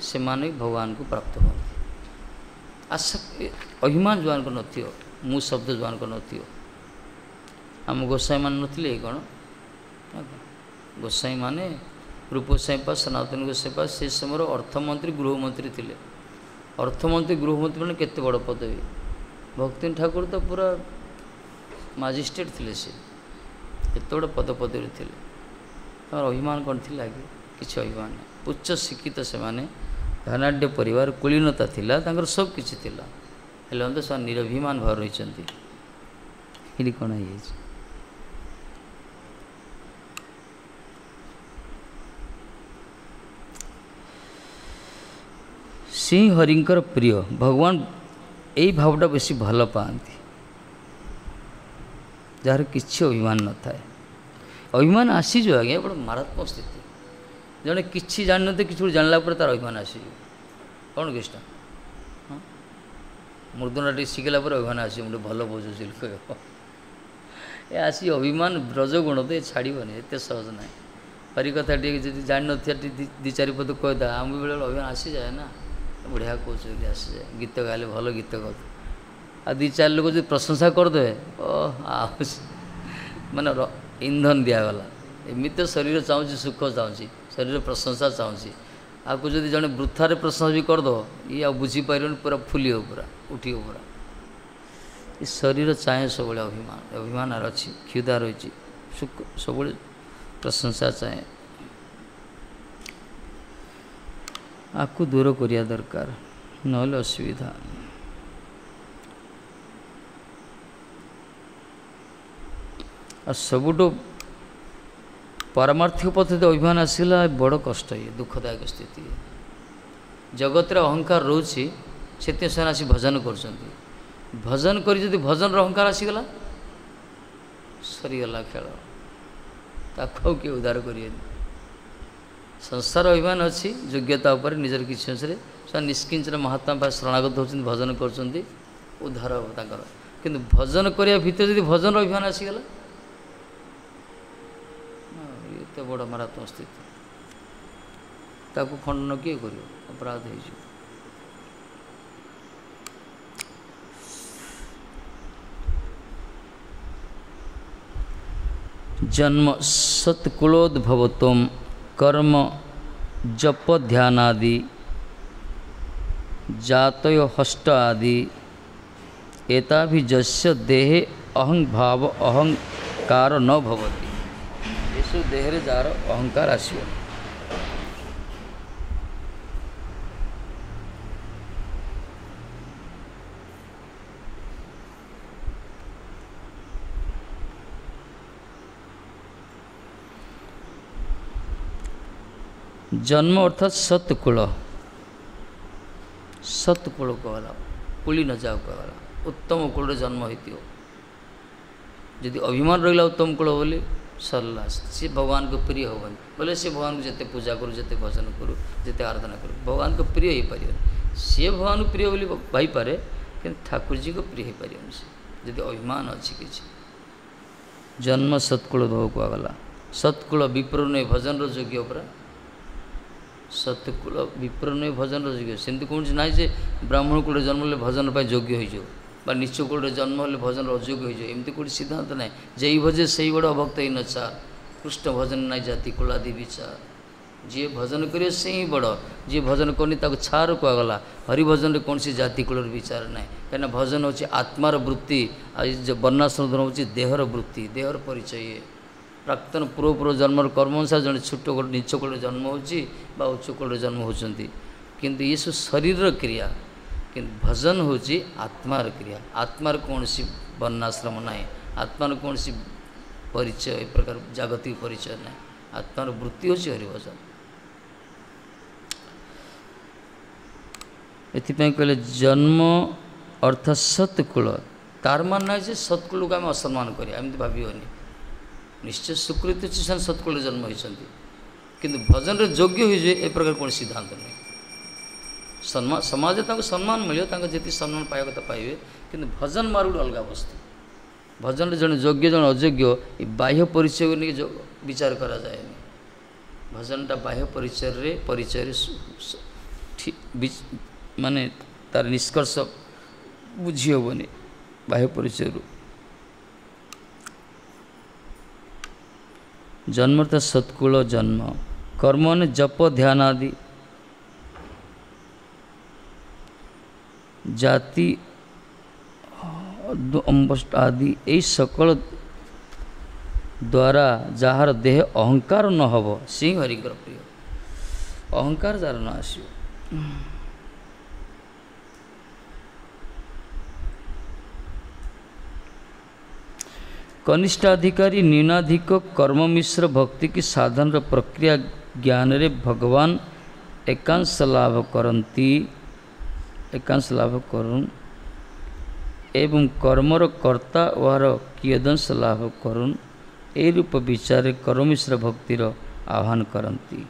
[SPEAKER 1] ସେମାନେ ଭଗବାନଙ୍କୁ ପ୍ରାପ୍ତ ହୁଅନ୍ତି। ଆଶା ଅଭିମାନ ଯେଉଁମାନଙ୍କ ନଥିବ, ମୁଁ ଶବ୍ଦ ଯେଉଁମାନଙ୍କ ନଥିବ। ଆମ ଗୋସାଇଁମାନେ ନଥିଲେ କ'ଣ? ଗୋସାଇଁମାନେ ରୂପ ଗୋସାଇଁ ପା, ସନାତନ ଗୋସାଇଁ ପା ସେ ସମୟର ଅର୍ଥମନ୍ତ୍ରୀ ଗୃହମନ୍ତ୍ରୀ ଥିଲେ। ଅର୍ଥମନ୍ତ୍ରୀ ଗୃହମନ୍ତ୍ରୀ ମାନେ କେତେ ବଡ଼ ପଦବୀ। ଭକ୍ତି ଠାକୁର ତ ପୁରା ମାଜିଷ୍ଟ୍ରେଟ୍ ଥିଲେ, ସେ କେତେ ବଡ଼ ପଦ ପଦବୀରେ ଥିଲେ। ତାଙ୍କର ଅଭିମାନ କ'ଣ ଥିଲା କି? କିଛି ଅଭିମାନ ନାହିଁ। ଉଚ୍ଚ ଶିକ୍ଷିତ ସେମାନେ, ଧନାଢ଼୍ୟ ପରିବାର, କୁଳୀନତା ଥିଲା ତାଙ୍କର, ସବୁ କିଛି ଥିଲା, ହେଲେ ମଧ୍ୟ ସେମାନେ ନିରଭିମାନ ଭାବରେ ରହିଛନ୍ତି। ଏଠି କ'ଣ ହେଇଯାଇଛି? ସିଂହ ହରିଙ୍କର ପ୍ରିୟ, ଭଗବାନ ଏଇ ଭାବଟା ବେଶୀ ଭଲ ପାଆନ୍ତି, ଯାହାର କିଛି ଅଭିମାନ ନଥାଏ। ଅଭିମାନ ଆସିଯିବ ଆଜ୍ଞା, ବଡ଼ ମାରାତ୍ମକ ସ୍ଥିତି। ଜଣେ କିଛି ଜାଣିନଥିବ, କିଛି ଗୋଟେ ଜାଣିଲା ପରେ ତାର ଅଭିମାନ ଆସିଯିବ। କ'ଣ କୃଷ୍ଣ? ହଁ, ମୃଦୁଟା ଟିକେ ଶିଖିଲା ପରେ ଅଭିମାନ ଆସିବ, ମୁଁ ଟିକେ ଭଲ ବୁଝୁଛି କହିବ। ଏ ଆସି ଅଭିମାନ ରଜଗୁଣ ତ ଏ ଛାଡ଼ିବନି, ଏତେ ସହଜ ନାହିଁ। ହରି କଥା ଟିକେ ଯଦି ଜାଣିନଥିବା ଟିକେ ଦୁଇ ଚାରି ପଦ କହିଦେବା, ଆମ ବେଳେ ଅଭିମାନ ଆସିଯାଏ ନା, ବଢ଼ିଆ କହୁଛୁ ବୋଲି ଆସିଯାଏ। ଗୀତ ଗାଇଲେ ଭଲ ଗୀତ ଗାଉଛୁ, ଆଉ ଦୁଇ ଚାରି ଲୋକ ଯଦି ପ୍ରଶଂସା କରିଦେବେ, ଓ ଆଉ ମାନେ ଇନ୍ଧନ ଦିଆଗଲା। ଏମିତି ତ ଶରୀର ଚାହୁଁଛି, ସୁଖ ଚାହୁଁଛି, ଶରୀର ପ୍ରଶଂସା ଚାହୁଁଛି। ଆକୁ ଯଦି ଜଣେ ବୃଥାରେ ପ୍ରଶଂସା ବି କରିଦେବ, ଇଏ ଆଉ ବୁଝିପାରିବନି, ପୁରା ଫୁଲିବ, ପୁରା ଉଠିବ ପୁରା। ଏ ଶରୀର ଚାହେଁ ସବୁବେଳେ ଅଭିମାନ, ଅଭିମାନ ଅଛି, କ୍ଷୁଧା ରହିଛି, ସୁଖ ସବୁବେଳେ ପ୍ରଶଂସା ଚାହେଁ। ଆକୁ ଦୂର କରିବା ଦରକାର, ନହେଲେ ଅସୁବିଧା। ଆଉ ସବୁଠୁ ପାରମାର୍ଥିକ ପଦ୍ଧତି ଅଭିମାନ ଆସିଲା, ବଡ଼ କଷ୍ଟ, ଇଏ ଦୁଃଖଦାୟକ ସ୍ଥିତି। ଜଗତରେ ଅହଙ୍କାର ରହୁଛି, ସେଥିପାଇଁ ସେମାନେ ଆସି ଭଜନ କରୁଛନ୍ତି। ଭଜନ କରି ଯଦି ଭଜନର ଅହଙ୍କାର ଆସିଗଲା, ସରିଗଲା ଖେଳ, ତାକୁ ଆଉ କିଏ ଉଦ୍ଧାର କରିବେନି। ସଂସାର ଅଭିମାନ ଅଛି ଯୋଗ୍ୟତା ଉପରେ, ନିଜର କିଛି ଅଂଶରେ ସେମାନେ ନିଷ୍କିଞ୍ଚନ ମହାତ୍ମା ପାଖରେ ଶରଣାଗତ ହେଉଛନ୍ତି, ଭଜନ କରୁଛନ୍ତି, ଉଦ୍ଧାର ହେବ ତାଙ୍କର। କିନ୍ତୁ ଭଜନ କରିବା ଭିତରେ ଯଦି ଭଜନର ଅଭିମାନ ଆସିଗଲା, ଏତେ ବଡ଼ ମାରାତ୍ମକ ସ୍ଥିତି, ତାକୁ ଖଣ୍ଡନ କିଏ କରିବ? ଅପରାଧ ହେଇଯିବ। ଜନ୍ମ ସତ୍କୁଳୋଦ୍ଭବତ୍ୱം କର୍ମ ଜପ ଧ୍ୟାନାଦି ଜାତୟ ହଷ୍ଟ ଆଦି ଏତାଭିଜସ୍ୟ ଦେହେ ଅହଂ ଭାବ ଅହଙ୍କାର ନ ଭବତି। ଏସବୁ ଦେହରେ ଯାହାର ଅହଙ୍କାର ଆସିବ। ଜନ୍ମ ଅର୍ଥାତ୍ ସତ୍କୁଳ, ସତ୍କୁଳ କୁହାଗଲା, କୁଳି ନ ଯାଉ କୁହାଗଲା, ଉତ୍ତମ କୂଳରେ ଜନ୍ମ ହେଇଥିବ। ଯଦି ଅଭିମାନ ରହିଲା ଉତ୍ତମ କୂଳ ବୋଲି, ସରିଲା, ସିଏ ଭଗବାନଙ୍କ ପ୍ରିୟ ହେବନି। ବୋଲେ ସେ ଭଗବାନଙ୍କୁ ଯେତେ ପୂଜା କରୁ, ଯେତେ ଭଜନ କରୁ, ଯେତେ ଆରାଧନା କରୁ, ଭଗବାନଙ୍କ ପ୍ରିୟ ହେଇପାରିବନି। ସିଏ ଭଗବାନଙ୍କୁ ପ୍ରିୟ ବୋଲି ଭାଇପାରେ, କିନ୍ତୁ ଠାକୁରଜୀଙ୍କ ପ୍ରିୟ ହେଇପାରିବନି ସେ, ଯଦି ଅଭିମାନ ଅଛି କିଛି। ଜନ୍ମ ସତ୍କୁଳ ଭୋଗ କୁହାଗଲା। ସତ୍କୁଳ ବିପ୍ର ନୁହେଁ ଭଜନର ଯୋଗ୍ୟ ପରା। ସତ୍କୁଳ ବିପ୍ର ନୁହେଁ ଭଜନର ଯୋଗ୍ୟ। ସେମିତି କୌଣସି ନାହିଁ ଯେ ବ୍ରାହ୍ମଣ କୂଳରେ ଜନ୍ମ ହେଲେ ଭଜନ ପାଇଁ ଯୋଗ୍ୟ ହେଇଯିବ, ବା ନିଚ କୂଳରେ ଜନ୍ମ ହେଲେ ଭଜନର ଅଯୋଗ୍ୟ ହେଇଯିବ, ଏମିତି କୋଉଠି ସିଦ୍ଧାନ୍ତ ନାହିଁ। ଯେଇ ଭଜେ ସେଇ ବଡ଼ ଅଭକ୍ତ ହେଇ ନଚାର, କୃଷ୍ଣ ଭଜନ ନାହିଁ ଜାତି କୁଳାଦି ବିଚାର। ଯିଏ ଭଜନ କରିବ ସେ ହିଁ ବଡ଼, ଯିଏ ଭଜନ କରୁନି ତାକୁ ଛାର କୁହାଗଲା। ହରିଭଜନରେ କୌଣସି ଜାତି କୂଳର ବିଚାର ନାହିଁ, କାହିଁକିନା ଭଜନ ହେଉଛି ଆତ୍ମାର ବୃତ୍ତି, ଆଉ ବର୍ଣ୍ଣାଶ୍ରମ ଧର୍ମ ହେଉଛି ଦେହର ବୃତ୍ତି, ଦେହର ପରିଚୟ। ଇଏ ପ୍ରାକ୍ତନ ପୂର୍ବ ପୂର୍ବ ଜନ୍ମର କର୍ମ ଅନୁସାରେ ଜଣେ ଛୋଟ ନିଚ କୂଳରେ ଜନ୍ମ ହେଉଛି ବା ଉଚ୍ଚ କୂଳରେ ଜନ୍ମ ହେଉଛନ୍ତି, କିନ୍ତୁ ଏସବୁ ଶରୀରର କ୍ରିୟା। କିନ୍ତୁ ଭଜନ ହେଉଛି ଆତ୍ମାର କ୍ରିୟା। ଆତ୍ମାର କୌଣସି ବର୍ଣ୍ଣାଶ୍ରମ ନାହିଁ, ଆତ୍ମାର କୌଣସି ପରିଚୟ, ଏ ପ୍ରକାର ଜାଗତିକ ପରିଚୟ ନାହିଁ। ଆତ୍ମାର ବୃତ୍ତି ହେଉଛି ହରିଭଜନ। ଏଥିପାଇଁ କହିଲେ ଜନ୍ମ ଅର୍ଥାତ୍ ସତ୍କୁଳ, ତାର ମାନେ ନାହିଁ ଯେ ସତ୍କୁଳକୁ ଆମେ ଅସମ୍ମାନ କରିବା, ଏମିତି ଭାବିବନି। ନିଶ୍ଚୟ ସ୍ୱୀକୃତି ଅଛି ସେମାନେ ସତ୍କୁଳରେ ଜନ୍ମ ହୋଇଛନ୍ତି, କିନ୍ତୁ ଭଜନରେ ଯୋଗ୍ୟ ହୋଇଯିବେ ଏ ପ୍ରକାର କୌଣସି ସିଦ୍ଧାନ୍ତ ନାହିଁ। ସମ୍ମାନ ସମାଜରେ ତାଙ୍କୁ ସମ୍ମାନ ମିଳିବ, ତାଙ୍କ ଯେତିକି ସମ୍ମାନ ପାଇବା କଥା ପାଇବେ, କିନ୍ତୁ ଭଜନ ମାର୍ଗ ଗୋଟେ ଅଲଗା ବସ୍ତୁ। ଭଜନରେ ଜଣେ ଯୋଗ୍ୟ ଜଣେ ଅଯୋଗ୍ୟ ଏ ବାହ୍ୟ ପରିଚୟକୁ ନେଇକି ବିଚାର କରାଯାଏନି। ଭଜନଟା ବାହ୍ୟ ପରିଚୟରେ ପରିଚୟରେ ମାନେ ତାର ନିଷ୍କର୍ଷ ବୁଝି ହେବନି ବାହ୍ୟ ପରିଚୟରୁ। ଜନ୍ମ ତ ସତ୍କୁଳ ଜନ୍ମ, କର୍ମ ମାନେ ଜପ ଧ୍ୟାନ ଆଦି, ଜାତି ଆଦି ଏଇ ସକଳ ଦ୍ୱାରା ଯାହାର ଦେହ ଅହଙ୍କାର ନ ହେବ ସେ ହିଁ ହରିଙ୍କର ପ୍ରିୟ। ଅହଙ୍କାର ଯାହାର ନ ଆସିବ। କନିଷ୍ଠାଧିକାରୀ ନ୍ୟୁନାଧିକ କର୍ମ ମିଶ୍ର ଭକ୍ତି କି ସାଧନର ପ୍ରକ୍ରିୟା ଜ୍ଞାନରେ ଭଗବାନ ଏକାଂଶ ଲାଭ କରନ୍ତି, ଏକାଂଶ ଲାଭ କରୁନ୍ ଏବଂ କର୍ମର କର୍ତ୍ତା ଓହାର କିୟଦଂଶ ଲାଭ କରୁନ୍, ଏହି ରୂପ ବିଚାରରେ କର୍ମମିଶ୍ର ଭକ୍ତିର ଆହ୍ୱାନ କରନ୍ତି।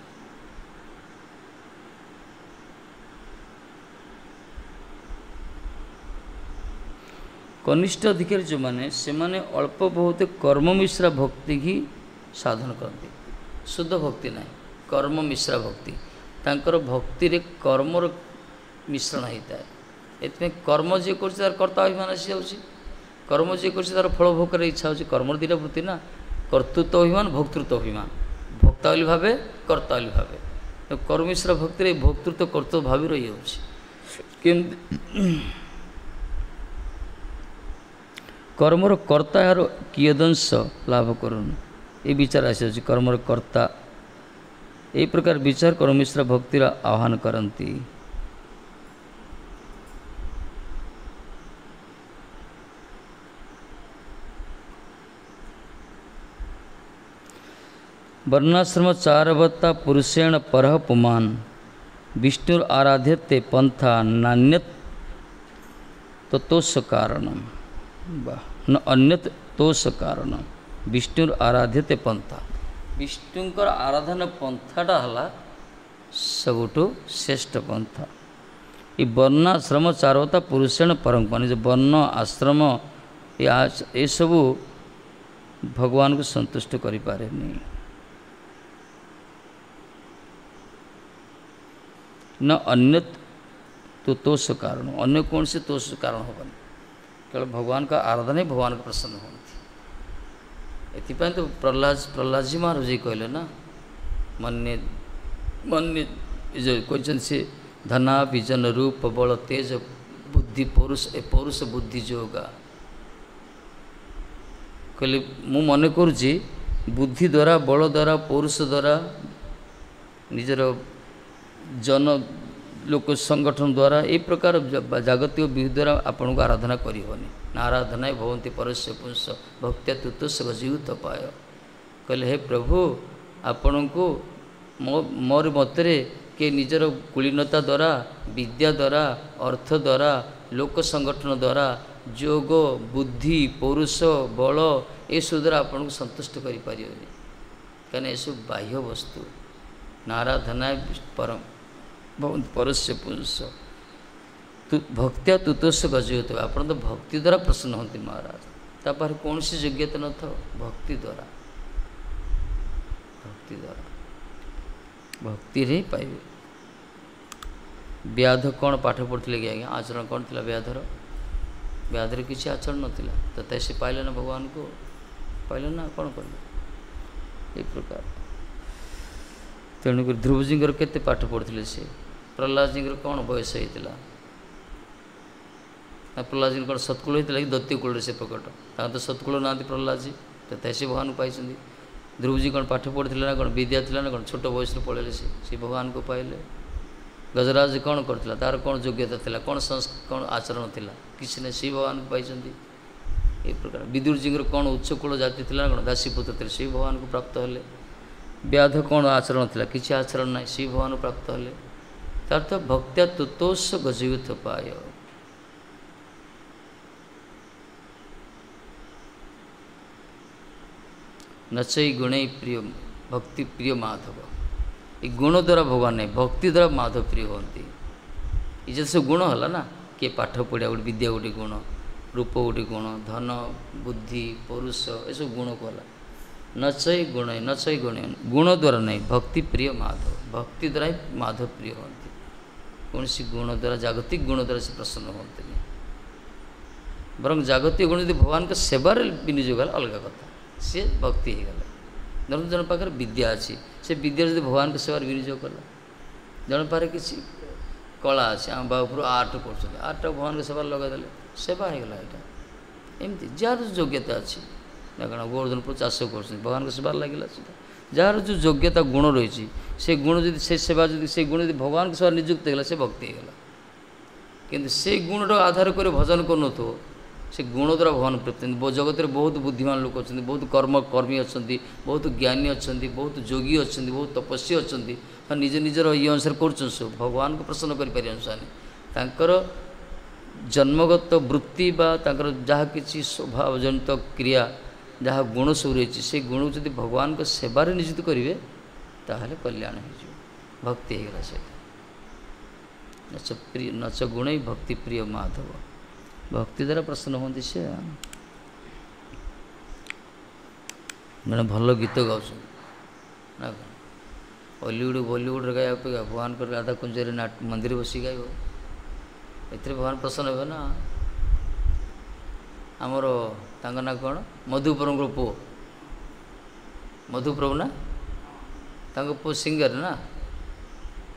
[SPEAKER 1] କନିଷ୍ଠ ଅଧିକାରୀ ଯେଉଁମାନେ ସେମାନେ ଅଳ୍ପ ବହୁତ କର୍ମ ମିଶ୍ରା ଭକ୍ତି ହିଁ ସାଧନ କରନ୍ତି, ଶୁଦ୍ଧ ଭକ୍ତି ନାହିଁ, କର୍ମ ମିଶ୍ରା ଭକ୍ତି। ତାଙ୍କର ଭକ୍ତିରେ କର୍ମର ମିଶ୍ରଣ ହେଇଥାଏ। ଏଥିପାଇଁ କର୍ମ ଯିଏ କରୁଛି ତାର କର୍ତ୍ତା ଅଭିମାନ ଆସିଯାଉଛି, କର୍ମ ଯିଏ କରୁଛି ତାର ଫଳ ଭୋଗ କରିବାର ଇଚ୍ଛା ହେଉଛି। କର୍ମର ଦୁଇଟା ବୃତ୍ତି ନା, କର୍ତ୍ତୃତ୍ୱ ଅଭିମାନ, ଭୋକ୍ତୃତ୍ୱ ଅଭିମାନ। ଭୋକ୍ତା ବୋଲି ଭାବେ, କର୍ତ୍ତା ବୋଲି ଭାବେ। କର୍ମମିଶ୍ର ଭକ୍ତିରେ ଭୋକ୍ତୃତ୍ୱ କର୍ତ୍ତୃତ୍ୱ ଭାବି ରହିଯାଉଛି। କେମିତି କର୍ମର କର୍ତ୍ତା ଏହାର କିୟଦଂଶ ଲାଭ କରୁନି, ଏ ବିଚାର ଆସିଯାଉଛି କର୍ମର କର୍ତ୍ତା। ଏହି ପ୍ରକାର ବିଚାର କର୍ମମିଶ୍ର ଭକ୍ତିର ଆହ୍ୱାନ କରନ୍ତି। ବର୍ଣ୍ଣାଶ୍ରମ ଚାରବତ୍ତା ପୁରୁଷେଣ ପରହ ପୁମାନ ବିଷ୍ଣୁର ଆରାଧ୍ୟତେ ପନ୍ଥା ନାନ୍ୟତ ତୋଷ କାରଣ ବା ନ ଅନ୍ୟତ ତୋଷ କାରଣ। ବିଷ୍ଣୁର ଆରାଧ୍ୟତେ ପନ୍ଥା, ବିଷ୍ଣୁଙ୍କର ଆରାଧନା ପନ୍ଥାଟା ହେଲା ସବୁଠୁ ଶ୍ରେଷ୍ଠ ପନ୍ଥା। ଏ ବର୍ଣ୍ଣାଶ୍ରମ ଚାରବତ୍ତା ପୁରୁଷେଣ ପରମ ପୁମାନ, ଯେ ବର୍ଣ୍ଣ ଆଶ୍ରମ ଏସବୁ ଭଗବାନଙ୍କୁ ସନ୍ତୁଷ୍ଟ କରିପାରେନି। ନା ଅନ୍ୟତ ତ ତୋଷ କାରଣ, ଅନ୍ୟ କୌଣସି ତୋଷ କାରଣ ହେବନି, କେବଳ ଭଗବାନଙ୍କ ଆରାଧନା ହିଁ ଭଗବାନଙ୍କୁ ପ୍ରସନ୍ନ ହୁଅନ୍ତି। ଏଥିପାଇଁ ତ ପ୍ରହ୍ଲାଦ ପ୍ରହ୍ଲାଦଜୀ ମହାରାଜ କହିଲେ ନା, ମନ୍ୟେ ମନ୍ୟେ ଯେଉଁ କହିଛନ୍ତି ସେ ଧନା ବିଜନ ରୂପ ବଳ ତେଜ ବୁଦ୍ଧି ପୌରୁଷ ଏ ପୌରୁଷ ବୁଦ୍ଧି ଯୋଗା। କହିଲେ ମୁଁ ମନେ କରୁଛି ବୁଦ୍ଧି ଦ୍ୱାରା, ବଳ ଦ୍ୱାରା, ପୌରୁଷ ଦ୍ୱାରା, ନିଜର ଜନ ଲୋକ ସଂଗଠନ ଦ୍ୱାରା, ଏହି ପ୍ରକାର ଜାଗତିକ ବିଧି ଦ୍ୱାରା ଆପଣଙ୍କୁ ଆରାଧନା କରିହେବନି। ନା ଆରାଧନା ଭବନ୍ତି ପରସ୍ୟ ପୁଂସ ଭକ୍ତ୍ୟା ତୁତୋଷ ଗଜୀୟୁତ ପାୟ। କହିଲେ ହେ ପ୍ରଭୁ, ଆପଣଙ୍କୁ ମୋ ମୋର ମତରେ କିଏ ନିଜର କୁଳୀନତା ଦ୍ୱାରା, ବିଦ୍ୟା ଦ୍ୱାରା, ଅର୍ଥ ଦ୍ୱାରା, ଲୋକ ସଂଗଠନ ଦ୍ୱାରା, ଯୋଗ, ବୁଦ୍ଧି, ପୌରୁଷ, ବଳ ଏସବୁ ଦ୍ୱାରା ଆପଣଙ୍କୁ ସନ୍ତୁଷ୍ଟ କରିପାରିବେନି, କାହିଁକିନା ଏସବୁ ବାହ୍ୟ ବସ୍ତୁ। ନାରାଧନା ପରମ ଭବନ୍ତି ପରସ୍ୟ ପୁଂସ ଭକ୍ତ୍ୟା ତୁତୋଷ ଗଜୀୟୁତ। ଆପଣ ତ ଭକ୍ତି ଦ୍ୱାରା ପ୍ରସନ୍ନ ହୁଅନ୍ତି ମହାରାଜ, ତା ପାଖରେ କୌଣସି ଯୋଗ୍ୟତା ନଥାଉ, ଭକ୍ତି ଦ୍ୱାରା, ଭକ୍ତି ଦ୍ୱାରା, ଭକ୍ତିରେ ହିଁ ପାଇବେ। ବ୍ୟାଧ କ'ଣ ପାଠ ପଢ଼ୁଥିଲେ କି ଆଜ୍ଞା? ଆଚରଣ କ'ଣ ଥିଲା ବ୍ୟାଧର? ବ୍ୟାଧର କିଛି ଆଚରଣ ନଥିଲା, ତଥାପି ସେ ପାଇଲେ ନା ଭଗବାନଙ୍କୁ, ପାଇଲେ ନା କ'ଣ କଲେ? ଏଇ ପ୍ରକାର। ତେଣୁକରି ଧ୍ରୁବଜୀଙ୍କର କେତେ ପାଠ ପଢ଼ୁଥିଲେ ସେ? ପ୍ରହ୍ଲାଦଜୀଙ୍କର କ'ଣ ବୟସ ହେଇଥିଲା? ନା ପ୍ରହ୍ଲାଦଜୀଙ୍କର କ'ଣ ସତ୍କୁଳ ହେଇଥିଲା କି ଦୈତ୍ୟ କୂଳରେ ସେ ପ୍ରକଟ? ତାଙ୍କର ତ ସତ୍କୁଳ ନାହାନ୍ତି ପ୍ରହ୍ଲାଦଜୀ, ତଥାପି ସେ ଭଗବାନଙ୍କୁ ପାଇଛନ୍ତି। ଧ୍ରୁବଜୀ କ'ଣ ପାଠ ପଢ଼ୁଥିଲେ ନା କ'ଣ, ବିଦ୍ୟା ଥିଲା ନା କ'ଣ? ଛୋଟ ବୟସରୁ ପଳେଇଲେ ସେ, ସେ ଭଗବାନଙ୍କୁ ପାଇଲେ। ଗଜରାଜ କ'ଣ କରୁଥିଲା? ତାର କ'ଣ ଯୋଗ୍ୟତା ଥିଲା? କ'ଣ କ'ଣ ଆଚରଣ ଥିଲା? କିଛି ନାହିଁ, ସେ ଭଗବାନଙ୍କୁ ପାଇଛନ୍ତି। ଏ ପ୍ରକାର ବିଦୁରଜୀଙ୍କର କ'ଣ ଉଚ୍ଚକୁଳ ଜାତି ଥିଲା ନା କ'ଣ? ଦାସୀପୁତ୍ର ଥିଲେ, ସେ ଭଗବାନଙ୍କୁ ପ୍ରାପ୍ତ ହେଲେ। ବ୍ୟାଧ କ'ଣ ଆଚରଣ ଥିଲା? କିଛି ଆଚରଣ ନାହିଁ, ସେ ଭଗବାନଙ୍କୁ ପ୍ରାପ୍ତ ହେଲେ। ତାର ତ ଭକ୍ତ୍ୟା ତୁତୋଷ ଗଜୟୁଥ ପାୟ। ନଚଇ ଗୁଣେଇ ପ୍ରିୟ ଭକ୍ତି ପ୍ରିୟ ମାଧବ। ଏ ଗୁଣ ଦ୍ୱାରା ଭଗବାନ ନାହିଁ, ଭକ୍ତି ଦ୍ୱାରା ମାଧବ ପ୍ରିୟ ହୁଅନ୍ତି। ଏ ଯେତେ ସବୁ ଗୁଣ ହେଲା ନା, କିଏ ପାଠ ପଢ଼ିବା ଗୋଟେ ବିଦ୍ୟା ଗୋଟେ ଗୁଣ, ରୂପ ଗୋଟେ ଗୁଣ, ଧନ ବୁଦ୍ଧି ପୌରୁଷ ଏସବୁ ଗୁଣକୁ ହେଲା। ନଚଇ ଗୁଣ ନଚଇ ଗୁଣ ଗୁଣ ଦ୍ୱାରା ନାହିଁ, ଭକ୍ତି ପ୍ରିୟ ମାଧବ। ଭକ୍ତି ଦ୍ୱାରା ହିଁ ମାଧବ ପ୍ରିୟ ହୁଅନ୍ତି। କୌଣସି ଗୁଣ ଦ୍ୱାରା, ଜାଗତିକ ଗୁଣ ଦ୍ୱାରା ସେ ପ୍ରସନ୍ନ ହୁଅନ୍ତିନି। ବରଂ ଜାଗତିକ ଗୁଣ ଯଦି ଭଗବାନଙ୍କ ସେବାରେ ବିନିଯୋଗ ହେଲା ଅଲଗା କଥା, ସିଏ ଭକ୍ତି ହେଇଗଲା। ଧରନ୍ତୁ ଜଣେ ପାଖରେ ବିଦ୍ୟା ଅଛି, ସେ ବିଦ୍ୟା ଯଦି ଭଗବାନଙ୍କ ସେବାରେ ବିନିଯୋଗ କଲା। ଜଣେ ପାଖରେ କିଛି କଳା ଅଛି, ଆମ ବାବୁପୁର ଆର୍ଟ କରୁଛନ୍ତି, ଆର୍ଟଟା ଭଗବାନଙ୍କ ସେବାରେ ଲଗାଇଦେଲେ ସେବା ହେଇଗଲା। ଏଇଟା ଏମିତି ଯାହାର ଯୋଗ୍ୟତା ଅଛି ନା କ'ଣ, ଗୋବର୍ଦ୍ଧନପୁର ଚାଷ କରୁଛନ୍ତି, ଭଗବାନଙ୍କ ସେବାରେ ଲାଗିଲା ସେଇଟା। ଯାହାର ଯେଉଁ ଯୋଗ୍ୟତା ଗୁଣ ରହିଛି, ସେ ଗୁଣ ଯଦି ସେ ସେବା ଯଦି ସେ ଗୁଣ ଯଦି ଭଗବାନଙ୍କ ସେବାରେ ନିଯୁକ୍ତ ହେଇଗଲା, ସେ ଭକ୍ତି ହେଇଗଲା। କିନ୍ତୁ ସେଇ ଗୁଣଟାକୁ ଆଧାର କରି ଭଜନ କରୁନଥିବ, ସେ ଗୁଣ ଦ୍ୱାରା ଭଗବାନ ପ୍ରାପ୍ତି। ଜଗତରେ ବହୁତ ବୁଦ୍ଧିମାନ ଲୋକ ଅଛନ୍ତି, ବହୁତ କର୍ମ କର୍ମୀ ଅଛନ୍ତି, ବହୁତ ଜ୍ଞାନୀ ଅଛନ୍ତି, ବହୁତ ଯୋଗୀ ଅଛନ୍ତି, ବହୁତ ତପସ୍ୱୀ ଅଛନ୍ତି, ନିଜ ନିଜର ଇଏ ଅନୁସାରେ କରୁଛନ୍ତି ସବୁ, ଭଗବାନଙ୍କୁ ପ୍ରସନ୍ନ କରିପାରିବେନି ସେମାନେ। ତାଙ୍କର ଜନ୍ମଗତ ବୃତ୍ତି ବା ତାଙ୍କର ଯାହା କିଛି ସ୍ୱଭାବଜନିତ କ୍ରିୟା ଯାହା ଗୁଣ ସବୁ ରହିଛି, ସେ ଗୁଣକୁ ଯଦି ଭଗବାନଙ୍କ ସେବାରେ ନିଯୁକ୍ତ କରିବେ ତାହେଲେ କଲ୍ୟାଣ ହେଇଯିବ, ଭକ୍ତି ହେଇଗଲା ସେଇଟା। ନଚ ପ୍ରିୟ ନଚ ଗୁଣ ଭକ୍ତି ପ୍ରିୟ ମାଧବ, ଭକ୍ତି ଦ୍ୱାରା ପ୍ରସନ୍ନ ହୁଅନ୍ତି ସେ। ଜଣେ ଭଲ ଗୀତ ଗାଉଛନ୍ତି ନା କ'ଣ, ହଲିଉଡ଼ ବଲିଉଡ଼ରେ ଗାଇବା ଅପେକ୍ଷା ଭଗବାନଙ୍କର ରାଧା କୁଞ୍ଜରେ ମନ୍ଦିର ବସି ଗାଇବ, ଏଥିରେ ଭଗବାନ ପ୍ରସନ୍ନ ହେବେ ନା। ଆମର ତାଙ୍କ ନାଁ କ'ଣ, ମଧୁପ୍ରଭୁଙ୍କର ପୁଅ ମଧୁପ୍ରଭୁ ନା, ତାଙ୍କ ପୁଅ ସିଙ୍ଗର ନା,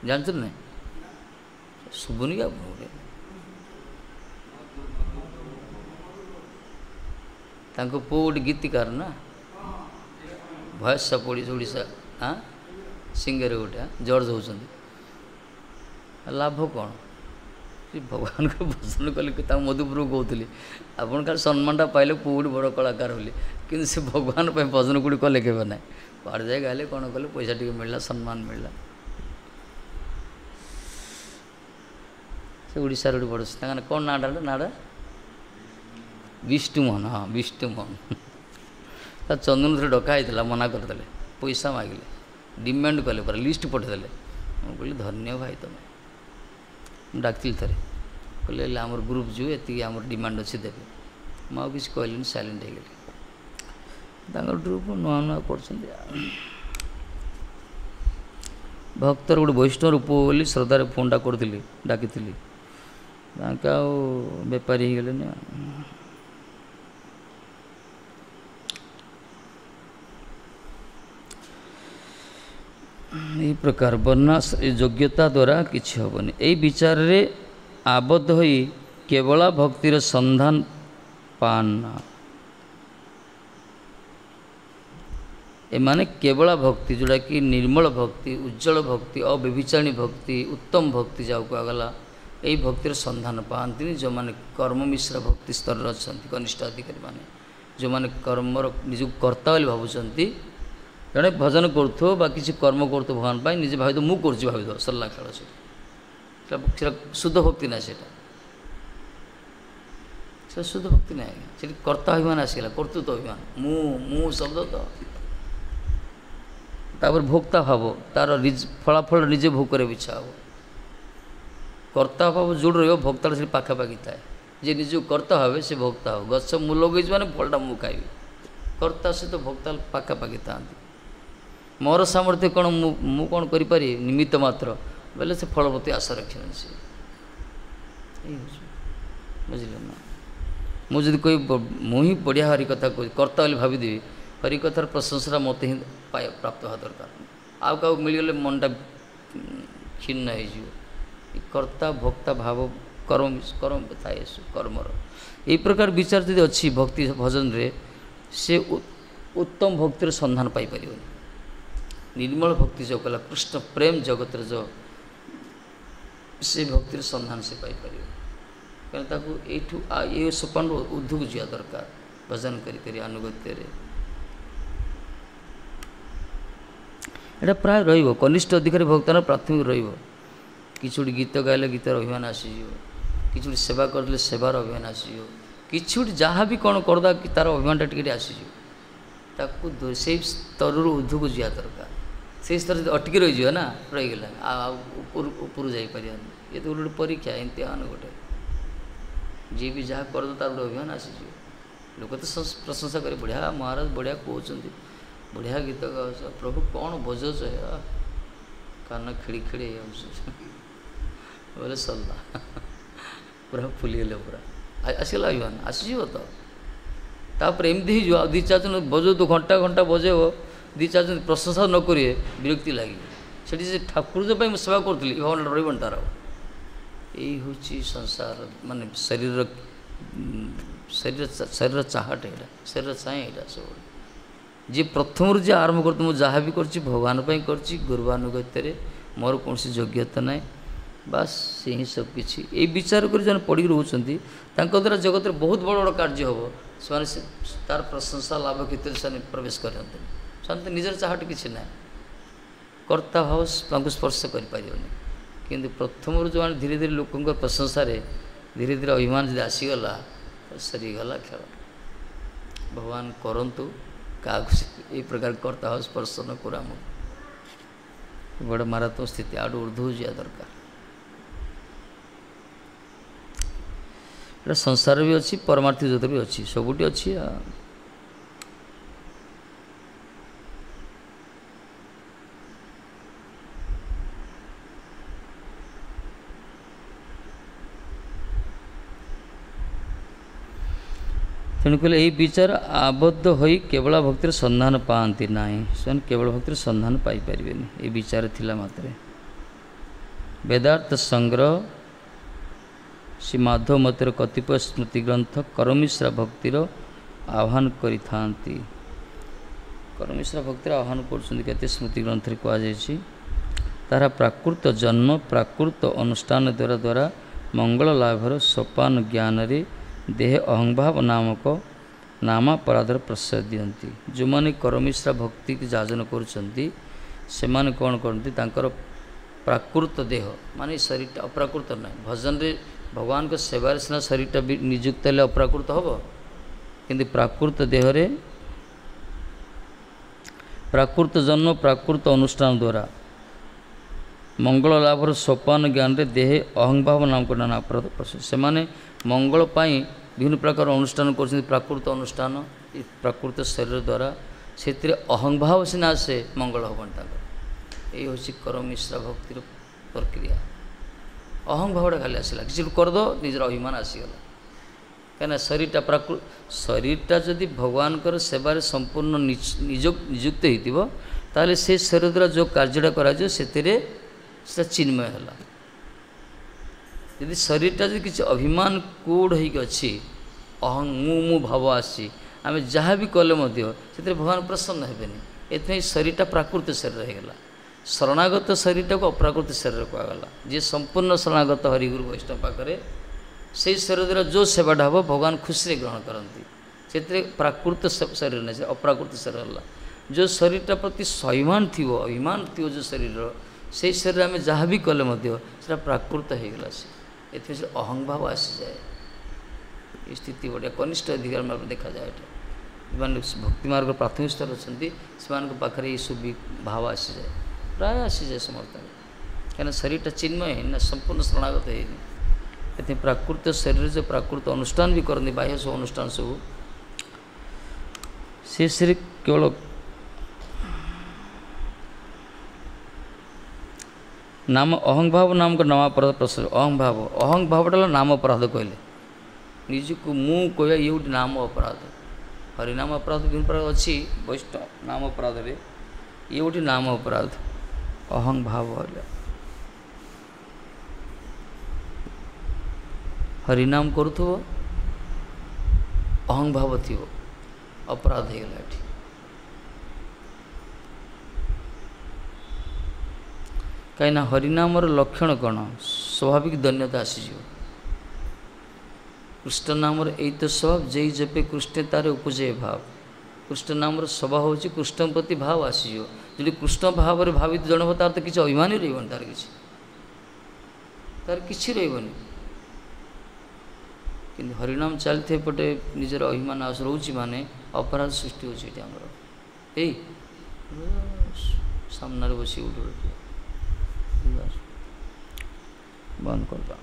[SPEAKER 1] ଜାଣିଛନ୍ତି ନା? ଶୁଭୁନି କି ଆପଣଙ୍କୁ? ତାଙ୍କ ପୁଅ ଗୋଟେ ଗୀତିକାର ନା, ଭଏସ୍ ଅଫ୍ ଓଡ଼ିଶା, ଓଡ଼ିଶା ହଁ ସିଙ୍ଗର ଗୋଟେ, ଜର୍ଜ ହେଉଛନ୍ତି। ଲାଭ କ'ଣ? ସେ ଭଗବାନଙ୍କ ଭଜନ କଲେ। ତାଙ୍କ ମଧୁପ୍ରଭୁ କହୁଥିଲି, ଆପଣ ଖାଲି ସମ୍ମାନଟା ପାଇଲେ ପୁଅ ଗୋଟେ ବଡ଼ କଳାକାର ବୋଲି, କିନ୍ତୁ ସେ ଭଗବାନ ପାଇଁ ଭଜନ କୋଉଠି କଲେ କେବେ ନାହିଁ। କୁଆଡ଼େ ଯାଇ ଗାଇଲେ କ'ଣ କଲେ, ପଇସା ଟିକେ ମିଳିଲା, ସମ୍ମାନ ମିଳିଲା। ସେ ଓଡ଼ିଶାର ଗୋଟେ ବଡ଼, ତାଙ୍କ କ'ଣ ନାଁଟା, ନାଁଟା ବିଷ୍ଣୁମୋହନ। ହଁ ବିଷ୍ଣୁମୋହନ। ତା ଚନ୍ଦନ ଥରେ ଡକା ହେଇଥିଲା, ମନା କରିଦେଲେ, ପଇସା ମାଗିଲେ, ଡିମାଣ୍ଡ କଲେ, ପୁରା ଲିଷ୍ଟ ପଠେଇଦେଲେ। ମୁଁ କହିଲି ଧନ୍ୟ ଭାଇ ତୁମେ। ମୁଁ ଡାକିଥିଲି ଥରେ, କହିଲେ ହେଲେ ଆମର ଗ୍ରୁପ୍ ଯିବୁ, ଏତିକି ଆମର ଡିମାଣ୍ଡ ଅଛି ଦେବେ। ମୁଁ ଆଉ କିଛି କହିଲିନି, ସାଇଲେଣ୍ଟ ହେଇଗଲି। ତାଙ୍କର ଗ୍ରୁପ୍ ନୂଆ ନୂଆ କରୁଛନ୍ତି। ଭକ୍ତର ଗୋଟେ ବୈଷ୍ଣବ ରୂପ ବୋଲି ଶ୍ରଦ୍ଧାରେ ଫୋନ୍ଟା କରୁଥିଲି, ଡାକିଥିଲି, ତାଙ୍କେ ଆଉ ବେପାରୀ ହେଇଗଲେନି। ଏହି ପ୍ରକାର ବର୍ଣ୍ଣ ଯୋଗ୍ୟତା ଦ୍ୱାରା କିଛି ହେବନି। ଏଇ ବିଚାରରେ ଆବଦ୍ଧ ହୋଇ କେବଳ ଭକ୍ତିର ସନ୍ଧାନ ପାନ। ଏମାନେ କେବଳ ଭକ୍ତି, ଯେଉଁଟାକି ନିର୍ମଳ ଭକ୍ତି, ଉଜ୍ଜଳ ଭକ୍ତି, ଅବ୍ୟଭିଚାରିଣୀ ଭକ୍ତି, ଉତ୍ତମ ଭକ୍ତି ଯାହାକୁ କୁହାଗଲା, ଏଇ ଭକ୍ତିର ସନ୍ଧାନ ପାଆନ୍ତିନି ଯେଉଁମାନେ କର୍ମ ମିଶ୍ର ଭକ୍ତି ସ୍ତରରେ ଅଛନ୍ତି, କନିଷ୍ଠ ଅଧିକାରୀମାନେ, ଯେଉଁମାନେ କର୍ମର ନିଜକୁ କର୍ତ୍ତା ବୋଲି ଭାବୁଛନ୍ତି। ଜଣେ ଭଜନ କରୁଥିବ ବା କିଛି କର୍ମ କରୁଥିବ ଭଗବାନ ପାଇଁ, ନିଜେ ଭାବିଥିବ ମୁଁ କରୁଛି, ଭାବିଥିବ, ସରିଲା ଖେଳ। ସେଟା ସେଟା ଶୁଦ୍ଧ ଭକ୍ତି ନାହିଁ, ସେଇଟା ସେଟା ଶୁଦ୍ଧ ଭକ୍ତି ନାହିଁ ଆଜ୍ଞା। ସେଠି କର୍ତ୍ତା ଅଭିମାନ ଆସିଗଲା, କର୍ତ୍ତୃତ୍ୱ ଅଭିମାନ, ମୁଁ ମୁଁ ଶବ୍ଦ ତ। ତାପରେ ଭୋକ୍ତା ଭାବ, ତାର ଫଳାଫଳ ନିଜେ ଭୋଗ କରିବାକୁ ଇଚ୍ଛା ହେବ। କର୍ତ୍ତା ଭାବ ଯେଉଁଠି ରହିବ, ଭୋକ୍ତାଟା ସେଠି ପାଖାପାଖି ଥାଏ। ଯିଏ ନିଜକୁ କର୍ତ୍ତା ଭାବେ ସେ ଭୋକ୍ତା ହେବ। ଗଛ ମୁଁ ଲଗେଇଛି ମାନେ ଫଳଟା ମୁଁ ଖାଇବି, କର୍ତ୍ତା ସହିତ ଭୋକ୍ତା ପାଖାପାଖି ଥାଆନ୍ତି। ମୋର ସାମର୍ଥ୍ୟ କ'ଣ, ମୁଁ ମୁଁ କ'ଣ କରିପାରିବି, ନିମିତ୍ତ ମାତ୍ର ବୋଇଲେ ସେ ଫଳ ପ୍ରତି ଆଶା ରଖିବନି ସେ। ଏଇ ହେଉଛି, ବୁଝିଲେ ନା? ମୁଁ ଯଦି କହିବି ମୁଁ ହିଁ ବଢ଼ିଆ ହରି କଥା କହୁଛି, କର୍ତ୍ତା ବୋଲି ଭାବିଦେବି, ହରି କଥାର ପ୍ରଶଂସାଟା ମୋତେ ହିଁ ପ୍ରାପ୍ତ ହେବା ଦରକାର, ଆଉ କାହାକୁ ମିଳିଗଲେ ମନଟା କ୍ଷୀଣ ହେଇଯିବ। କର୍ତ୍ତା ଭୋକ୍ତା ଭାବ କର୍ମ କର୍ମ ଥାଏ କର୍ମର। ଏଇ ପ୍ରକାର ବିଚାର ଯଦି ଅଛି ଭକ୍ତି ଭଜନରେ, ସେ ଉତ୍ତମ ଭକ୍ତିର ସନ୍ଧାନ ପାଇପାରିବନି। ନିର୍ମଳ ଭକ୍ତି ଯେଉଁ କଲା କୃଷ୍ଣ ପ୍ରେମ ଜଗତରେ ଯେଉଁ, ସେ ଭକ୍ତିର ସନ୍ଧାନ ସେ ପାଇପାରିବ। କାରଣ ତାକୁ ଏଇଠୁ ଏ ସୋପାନରୁ ଉର୍ଦ୍ଧ୍ୱକୁ ଯିବା ଦରକାର, ଭଜନ କରି କରି ଆନୁଗତ୍ୟରେ। ଏଇଟା ପ୍ରାୟ ରହିବ, କନିଷ୍ଠ ଅଧିକାରୀ ଭକ୍ତର ପ୍ରାଥମିକ ରହିବ। କିଛି ଗୋଟେ ଗୀତ ଗାଇଲେ ଗୀତର ଅଭିମାନ ଆସିଯିବ, କିଛି ଗୋଟେ ସେବା କରିଦେଲେ ସେବାର ଅଭିମାନ ଆସିଯିବ, କିଛି ଗୋଟେ ଯାହା ବି କ'ଣ କରିଦେବା କି ତା'ର ଅଭିମାନଟା ଟିକେ ଟିକେ ଆସିଯିବ। ତାକୁ ସେଇ ସ୍ତରରୁ ଉର୍ଦ୍ଧ୍ୱକୁ ଯିବା ଦରକାର। ସେଇ ସ୍ତର ଯଦି ଅଟକି ରହିଯିବ ନା, ରହିଗଲା ଆଉ ଉପରୁ ଉପରୁ ଯାଇପାରିବାନି। ଇଏ ତ ଗୋଟେ ଗୋଟେ ପରୀକ୍ଷା, ଇମ୍ତିହାନ ଗୋଟେ। ଯିଏ ବି ଯାହା କରିଦେବ ତାର ଗୋଟେ ଅଭିମାନ ଆସିଯିବ। ଲୋକ ତ ପ୍ରଶଂସା କରି, ବଢ଼ିଆ ମହାରାଜ ବଢ଼ିଆ କହୁଛନ୍ତି, ବଢ଼ିଆ ଗୀତ ଗାଉଛ, ପ୍ରଭୁ କ'ଣ ବଜାଉଛ, କାନ ଖେଳି ଖେଳି ହେଇଯାଉଛି ବୋଲେ ସରିଲା, ପୁରା ଫୁଲିଗଲେ, ପୁରା ଆସିଗଲା ଅଭିମାନ ଆସିଯିବ ତ। ତାପରେ ଏମିତି ହେଇଯିବ, ଆଉ ଦୁଇ ଚାରି ଜଣ ବଜାଉଥିବ, ଘଣ୍ଟା ଘଣ୍ଟା ବଜେଇବ, ଦୁଇ ଚାରି ଜଣ ପ୍ରଶଂସା ନ କରିବେ ବିରକ୍ତି ଲାଗିବ। ସେଠି ସେ ଠାକୁର ପାଇଁ ମୁଁ ସେବା କରୁଥିଲି, ଏ ଭାବନାଟା ରହିବନି ତାର। ଏଇ ହେଉଛି ସଂସାର, ମାନେ ଶରୀରର ଶରୀର ଶରୀର ଚାହାଟ, ଏଇଟା ଶରୀର ଚାହେଁ ଏଇଟା ସବୁବେଳେ। ଯିଏ ପ୍ରଥମରୁ ଯିଏ ଆରମ୍ଭ କରୁଥିବ, ମୁଁ ଯାହା ବି କରୁଛି ଭଗବାନ ପାଇଁ କରୁଛି, ଗୁରୁବାନୁଗତ୍ୟରେ ମୋର କୌଣସି ଯୋଗ୍ୟତା ନାହିଁ, ବାସ୍ ସେ ହିଁ ସବୁ କିଛି। ଏଇ ବିଚାର କରି ଯେଉଁମାନେ ପଡ଼ିକି ରହୁଛନ୍ତି, ତାଙ୍କ ଦ୍ୱାରା ଜଗତରେ ବହୁତ ବଡ଼ ବଡ଼ କାର୍ଯ୍ୟ ହେବ। ସେମାନେ ସେ ତାର ପ୍ରଶଂସା ଲାଭ କ୍ଷେତ୍ରରେ ସେମାନେ ପ୍ରବେଶ କରନ୍ତିନି। ସେମାନେ ତ ନିଜର ଚାହାଟ କିଛି ନାହିଁ, କର୍ତ୍ତା ଭାବ ତାଙ୍କୁ ସ୍ପର୍ଶ କରିପାରିବନି। କିନ୍ତୁ ପ୍ରଥମରୁ ଯେଉଁମାନେ ଧୀରେ ଧୀରେ ଲୋକଙ୍କ ପ୍ରଶଂସାରେ ଧୀରେ ଧୀରେ ଅଭିମାନ ଯଦି ଆସିଗଲା, ସରିଗଲା ଖେଳ। ଭଗବାନ କରନ୍ତୁ କାହାକୁ ଏଇ ପ୍ରକାର କର୍ତ୍ତା ଭାବ ସ୍ପର୍ଶ ନ କରୁ ଆମକୁ। ବଡ଼ ମାରାତ୍ମକ ସ୍ଥିତି, ଆଠୁ ଉର୍ଦ୍ଧ୍ୱକୁ ଯିବା ଦରକାର। ଏଇଟା ସଂସାର ବି ଅଛି, ପରମାର୍ଥିକ ଜଗତ ବି ଅଛି, ସବୁଠି ଅଛି। ଆଉ ତେଣୁ କହିଲେ ଏଇ ବିଚାର ଆବଦ୍ଧ ହୋଇ କେବଳ ଭକ୍ତିର ସନ୍ଧାନ ପାଆନ୍ତି ନାହିଁ, ସେମାନେ କେବଳ ଭକ୍ତିର ସନ୍ଧାନ ପାଇପାରିବେନି ଏଇ ବିଚାର ଥିଲା ମାତ୍ରେ। ବେଦାର୍ଥ ସଂଗ୍ରହ ଶ୍ରୀ ମାଧବ ମତର କତିପୟ ସ୍ମୃତି ଗ୍ରନ୍ଥ କରମିଶ୍ରା ଭକ୍ତିର ଆହ୍ୱାନ କରିଥାନ୍ତି। କରମିଶ୍ରା ଭକ୍ତିର ଆହ୍ୱାନ କରୁଛନ୍ତି କେତେ ସ୍ମୃତି ଗ୍ରନ୍ଥରେ କୁହାଯାଇଛି। ତାହାର ପ୍ରାକୃତ ଜନ୍ମ ପ୍ରାକୃତ ଅନୁଷ୍ଠାନ ଦ୍ୱାରା ଦ୍ୱାରା ମଙ୍ଗଳ ଲାଭର ସୋପାନ ଜ୍ଞାନରେ ଦେହ ଅହଂଭାବ ନାମକ ନାମାପରାଧର ପ୍ରଶ୍ରୟ ଦିଅନ୍ତି। ଯେଉଁମାନେ କରମିଶ୍ରା ଭକ୍ତିକୁ ଯାଜନ କରୁଛନ୍ତି ସେମାନେ କ'ଣ କରନ୍ତି, ତାଙ୍କର ପ୍ରାକୃତ ଦେହ ମାନେ ଶରୀରଟା ଅପ୍ରାକୃତ ନାହିଁ। ଭଜନରେ ଭଗବାନଙ୍କ ସେବାରେ ସିନା ଶରୀରଟା ବି ନିଯୁକ୍ତ ହେଲେ ଅପ୍ରାକୃତ ହେବ, କିନ୍ତୁ ପ୍ରାକୃତ ଦେହରେ ପ୍ରାକୃତ ଜନ୍ମ ପ୍ରାକୃତ ଅନୁଷ୍ଠାନ ଦ୍ୱାରା ମଙ୍ଗଳ ଲାଭର ସୋପାନ ଜ୍ଞାନରେ ଦେହେ ଅହଂଭାବ ନାମକ ନାନା ଅପରାଧ ପ୍ରଶ୍ରୟ। ସେମାନେ ମଙ୍ଗଳ ପାଇଁ ବିଭିନ୍ନ ପ୍ରକାର ଅନୁଷ୍ଠାନ କରୁଛନ୍ତି, ପ୍ରାକୃତ ଅନୁଷ୍ଠାନ ପ୍ରାକୃତ ଶରୀର ଦ୍ୱାରା, ସେଥିରେ ଅହଂଭାବ ସିନା ଆସେ, ମଙ୍ଗଳ ହେବନି ତାଙ୍କର। ଏଇ ହେଉଛି କରମିଶ୍ରା ଭକ୍ତିର ପ୍ରକ୍ରିୟା। ଅହଂଭାବଟା ଖାଲି ଆସିଲା, କିଛି କରିଦେବ ନିଜର ଅଭିମାନ ଆସିଗଲା। କାହିଁକିନା ଶରୀରଟା ପ୍ରାକୃ ଶରୀରଟା ଯଦି ଭଗବାନଙ୍କର ସେବାରେ ସମ୍ପୂର୍ଣ୍ଣ ନିଯୁକ୍ତ ହେଇଥିବ, ତାହେଲେ ସେ ଶରୀର ଦ୍ୱାରା ଯେଉଁ କାର୍ଯ୍ୟଟା କରାଯିବ ସେଥିରେ ସେଟା ଚିନ୍ମୟ ହେଲା। ଯଦି ଶରୀରଟା ଯଦି କିଛି ଅଭିମାନ କୋଡ଼ ହେଇକି ଅଛି, ଅହଂ ମୁଁ ମୁଁ ଭାବ ଆସିଛି, ଆମେ ଯାହା ବି କଲେ ମଧ୍ୟ ସେଥିରେ ଭଗବାନ ପ୍ରସନ୍ନ ହେବେନି। ଏଥିପାଇଁ ଶରୀରଟା ପ୍ରାକୃତ ଶରୀର ହେଇଗଲା। ଶରଣାଗତ ଶରୀରଟାକୁ ଅପ୍ରାକୃତ ଶରୀର କୁହାଗଲା। ଯିଏ ସମ୍ପୂର୍ଣ୍ଣ ଶରଣାଗତ ହରିଗୁରୁ ବୈଷ୍ଣବ ପାଖରେ, ସେଇ ଶରୀର ଦ୍ୱାରା ଯେଉଁ ସେବାଟା ହେବ ଭଗବାନ ଖୁସିରେ ଗ୍ରହଣ କରନ୍ତି। ସେଥିରେ ପ୍ରାକୃତ ଶରୀର ନାହିଁ, ସେ ଅପ୍ରାକୃତ ଶରୀର ହେଲା। ଯେଉଁ ଶରୀରଟା ପ୍ରତି ସ୍ୱାଭିମାନ ଥିବ, ଅଭିମାନ ଥିବ ଯେଉଁ ଶରୀରର, ସେଇ ଶରୀରରେ ଆମେ ଯାହା ବି କଲେ ମଧ୍ୟ ସେଟା ପ୍ରାକୃତ ହେଇଗଲା। ସେ ଏଥିପାଇଁ ସେ ଅହଂଭାବ ଆସିଯାଏ। ଏ ସ୍ଥିତି ବଢ଼ିଆ କନିଷ୍ଠ ଅଧିକାର ମାର୍ଗ ଦେଖାଯାଏ। ଏଟା ଯେଉଁମାନେ ଭକ୍ତି ମାର୍ଗ ପ୍ରାଥମିକ ସ୍ତରରେ ଅଛନ୍ତି ସେମାନଙ୍କ ପାଖରେ ଏଇସବୁ ଭାବ ଆସିଯାଏ, ପ୍ରାୟ ଆସିଯାଏ ସମସ୍ତଙ୍କ। କାହିଁକିନା ଶରୀରଟା ଚିନ୍ମୟ ହେଇନି ନା, ସମ୍ପୂର୍ଣ୍ଣ ଶରଣାଗତ ହେଇନି। ଏଥିପାଇଁ ପ୍ରାକୃତ ଶରୀରରେ ଯେଉଁ ପ୍ରାକୃତ ଅନୁଷ୍ଠାନ ବି କରନ୍ତି, ବାହ୍ୟ ସବୁ ଅନୁଷ୍ଠାନ ସବୁ, ସେ ଶରୀର କେବଳ ନାମ ଅହଂଭାବ ନାମକ ନାମାପରାଧ ପ୍ରଶ୍ରୟ। ଅହଂଭାବ, ଅହଂଭାବଟା ହେଲା ନାମ ଅପରାଧ କହିଲେ। ନିଜକୁ ମୁଁ କହିବା ଇଏ ଗୋଟେ ନାମ ଅପରାଧ। ହରିନାମ ଅପରାଧ ବିଭିନ୍ନ ପ୍ରକାର ଅଛି ବୈଷ୍ଣବ ନାମ ଅପରାଧରେ, ଇଏ ଗୋଟେ ନାମ ଅପରାଧ ଅହଂଭାବ ହେଲା। ହରିନାମ କରୁଥିବ ଅହଂଭାବ ଥିବ, ଅପରାଧ ହେଇଗଲା ଏଠି। କାହିଁକିନା ହରିନାମର ଲକ୍ଷଣ କ'ଣ? ସ୍ୱାଭାବିକ ଦନ୍ୟତା ଆସିଯିବ। କୃଷ୍ଣ ନାମର ଏଇ ତ ସ୍ୱଭାବ, ଯେଇ ଜପେ କୃଷ୍ଣେ ତାର ଉପଜେ ଭାବ। କୃଷ୍ଣ ନାମର ସ୍ୱଭାବ ହେଉଛି କୃଷ୍ଣ ପ୍ରତି ଭାବ ଆସିଯିବ। ଯଦି କୃଷ୍ଣ ଭାବରେ ଭାବିତ ଜଣେ ହେବ, ତାର ତ କିଛି ଅଭିମାନ ହିଁ ରହିବନି, ତାର କିଛି ତାର କିଛି ରହିବନି। କିନ୍ତୁ ହରିନାମ ଚାଲିଥିବ ଏପଟେ ନିଜର ଅଭିମାନ ଆସ ରହୁଛି ମାନେ ଅପରାଧ ସୃଷ୍ଟି ହେଉଛି ଏଠି ଆମର। ଏଇ ସାମ୍ନାରେ ବସି ଗୋଟେ ବନ୍ଦ କରିଦେବା।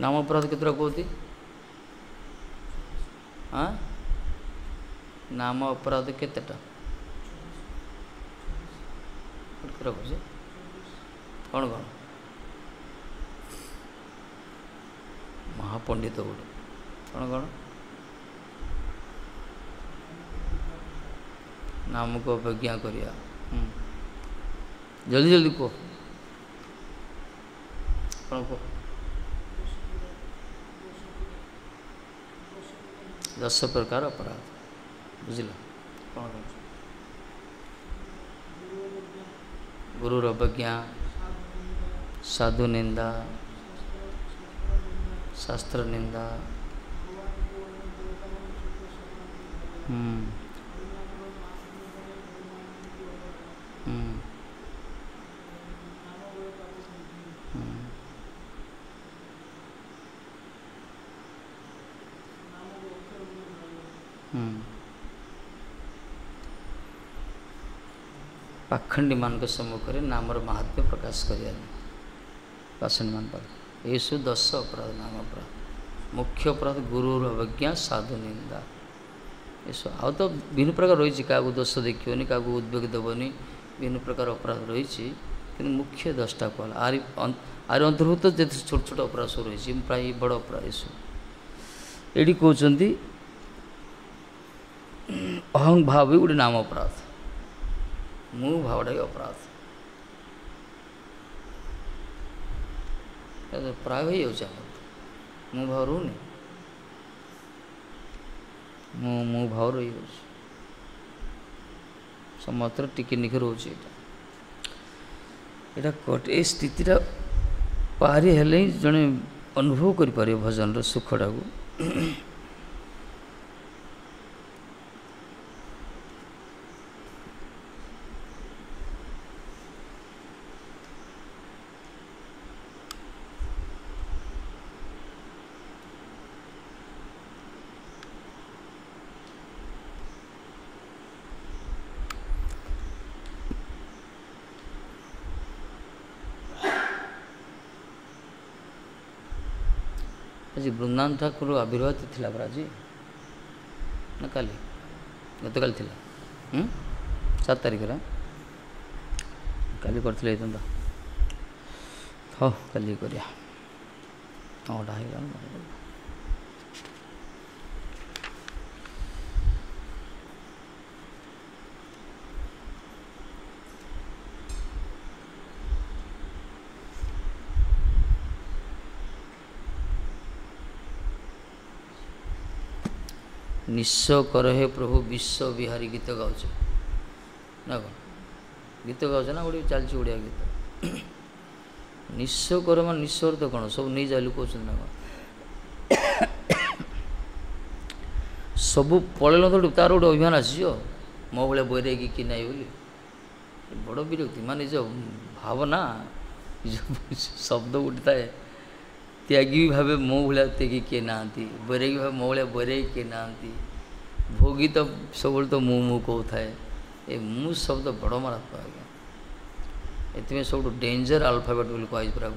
[SPEAKER 1] ନାମ ଅପରାଧ କେତେଟା କୁହନ୍ତି? ହଁ, ନାମ ଅପରାଧ କେତେଟା କେତେଟା କହୁଛି? କ'ଣ କ'ଣ ମହାପଣ୍ଡିତ ଗୋଟେ କ'ଣ କ'ଣ ନାମକୁ ଅବଜ୍ଞା କରିବା। ଜଲ୍ଦି ଜଲ୍ଦି କୁହ, କ'ଣ କୁହ? ଦଶ ପ୍ରକାର ଅପରାଧ, ବୁଝିଲ? କ'ଣ କହୁଛ? ଗୁରୁର ଅବଜ୍ଞା, ସାଧୁ ନିନ୍ଦା, ଶାସ୍ତ୍ର ନିନ୍ଦା, ହୁଁ ହୁଁ ହୁଁ ପାଖଣ୍ଡୀମାନଙ୍କ ସମ୍ମୁଖରେ ନାମର ମାହାତ୍ମ୍ୟ ପ୍ରକାଶ କରିବାନି, ପାଷଣ୍ଡୀମାନଙ୍କ ପାଖରେ। ଏସବୁ ଦଶ ଅପରାଧ, ନାମ ଅପରାଧ। ମୁଖ୍ୟ ଅପରାଧ ଗୁରୁର ଅବଜ୍ଞା, ସାଧୁ ନିନ୍ଦା, ଏସବୁ। ଆଉ ତ ବିଭିନ୍ନ ପ୍ରକାର ରହିଛି, କାହାକୁ ଦୋଷ ଦେଖିବନି, କାହାକୁ ଉଦ୍ବେଗ ଦେବନି, ବିଭିନ୍ନ ପ୍ରକାର ଅପରାଧ ରହିଛି, କିନ୍ତୁ ମୁଖ୍ୟ ଦଶଟା କୁହାଗଲା। ଆରି ଆରି ଅନ୍ତର୍ଭୁକ୍ତ ଯେତେ ଛୋଟ ଛୋଟ ଅପରାଧ ସବୁ ରହିଛି, ପ୍ରାୟ ବଡ଼ ଅପରାଧ ଏସବୁ। ଏଇଠି କହୁଛନ୍ତି ଅହଂ ଭାବ ବି ଗୋଟେ ନାମ ଅପରାଧ, ମୁଁ ଭାବଟା ବି ଅପରାଧ। ପ୍ରାୟ ହେଇଯାଉଛି ଆମର, ମୁଁ ଭାବ ରହୁନି, ମୁଁ ମୁଁ ଭାବ ରହିଯାଉଛି ସମସ୍ତର, ଟିକେ ନିଖେ ରହୁଛି। ଏଇଟା ଏଇଟା ଏ ସ୍ଥିତିଟା ପାରି ହେଲେ ହିଁ ଜଣେ ଅନୁଭବ କରିପାରିବ ଭଜନର ସୁଖଟାକୁ। ଆଜି ବୃନ୍ଦାବନ ଠାକୁର ଆବିର୍ଭାବ ଥିଲା ପରା ଆଜି ନା କାଲି? ଗତକାଲି ଥିଲା, ସାତ ତାରିଖରେ। କାଲି କରିଥିଲେ ହେଇଥାନ୍ତା। ହଉ କାଲି କରିବା, ନଅଟା ହେଇଗଲା। ନିଃସ୍ୱ କର ହେ ପ୍ରଭୁ ବିଶ୍ୱ ବିହାରୀ ଗୀତ ଗାଉଛେ ନା କ'ଣ? ଗୀତ ଗାଉଛେ ନା ଗୋଟେ ଚାଲିଛି ଓଡ଼ିଆ ଗୀତ। ନିଃସ୍ୱ କର ମାନେ ନିଃସ୍ୱର ତ କ'ଣ ସବୁ ନେଇଯାଇଲୁ କହୁଛନ୍ତି ନା କ'ଣ? ସବୁ ପଳେଇଲ ତ ତାର ଗୋଟେ ଅଭିମାନ ଆସିଯିବ, ମୋ ଭଳିଆ ବୈରାଗୀ କି ନାହିଁ ବୋଲି। ବଡ଼ ବିରକ୍ତି, ମାନେ ନିଜ ଭାବନା, ନିଜ ଶବ୍ଦ ଗୋଟେ ଥାଏ। ତ୍ୟାଗୀ ବି ଭାବେ ମୋ ଭଳିଆ ତ୍ୟାଗୀ କିଏ ନାହାନ୍ତି, ବୈରାଗୀ ଭାବେ ମୋ ଭଳିଆ ବୈରାଗୀ କିଏ ନାହାନ୍ତି, ଭୋଗୀ ତ ସବୁବେଳେ ତ ମୁଁ ମୁଁ କହୁଥାଏ। ଏ ମୁଁ ଶବ୍ଦ ବଡ଼ ମାରାତ୍ମକ ଆଜ୍ଞା। ଏଥିପାଇଁ ସବୁଠୁ ଡେଞ୍ଜର ଆଲଫାବେଟ୍ ବୋଲି କୁହାଯାଇଛି ପୁରା।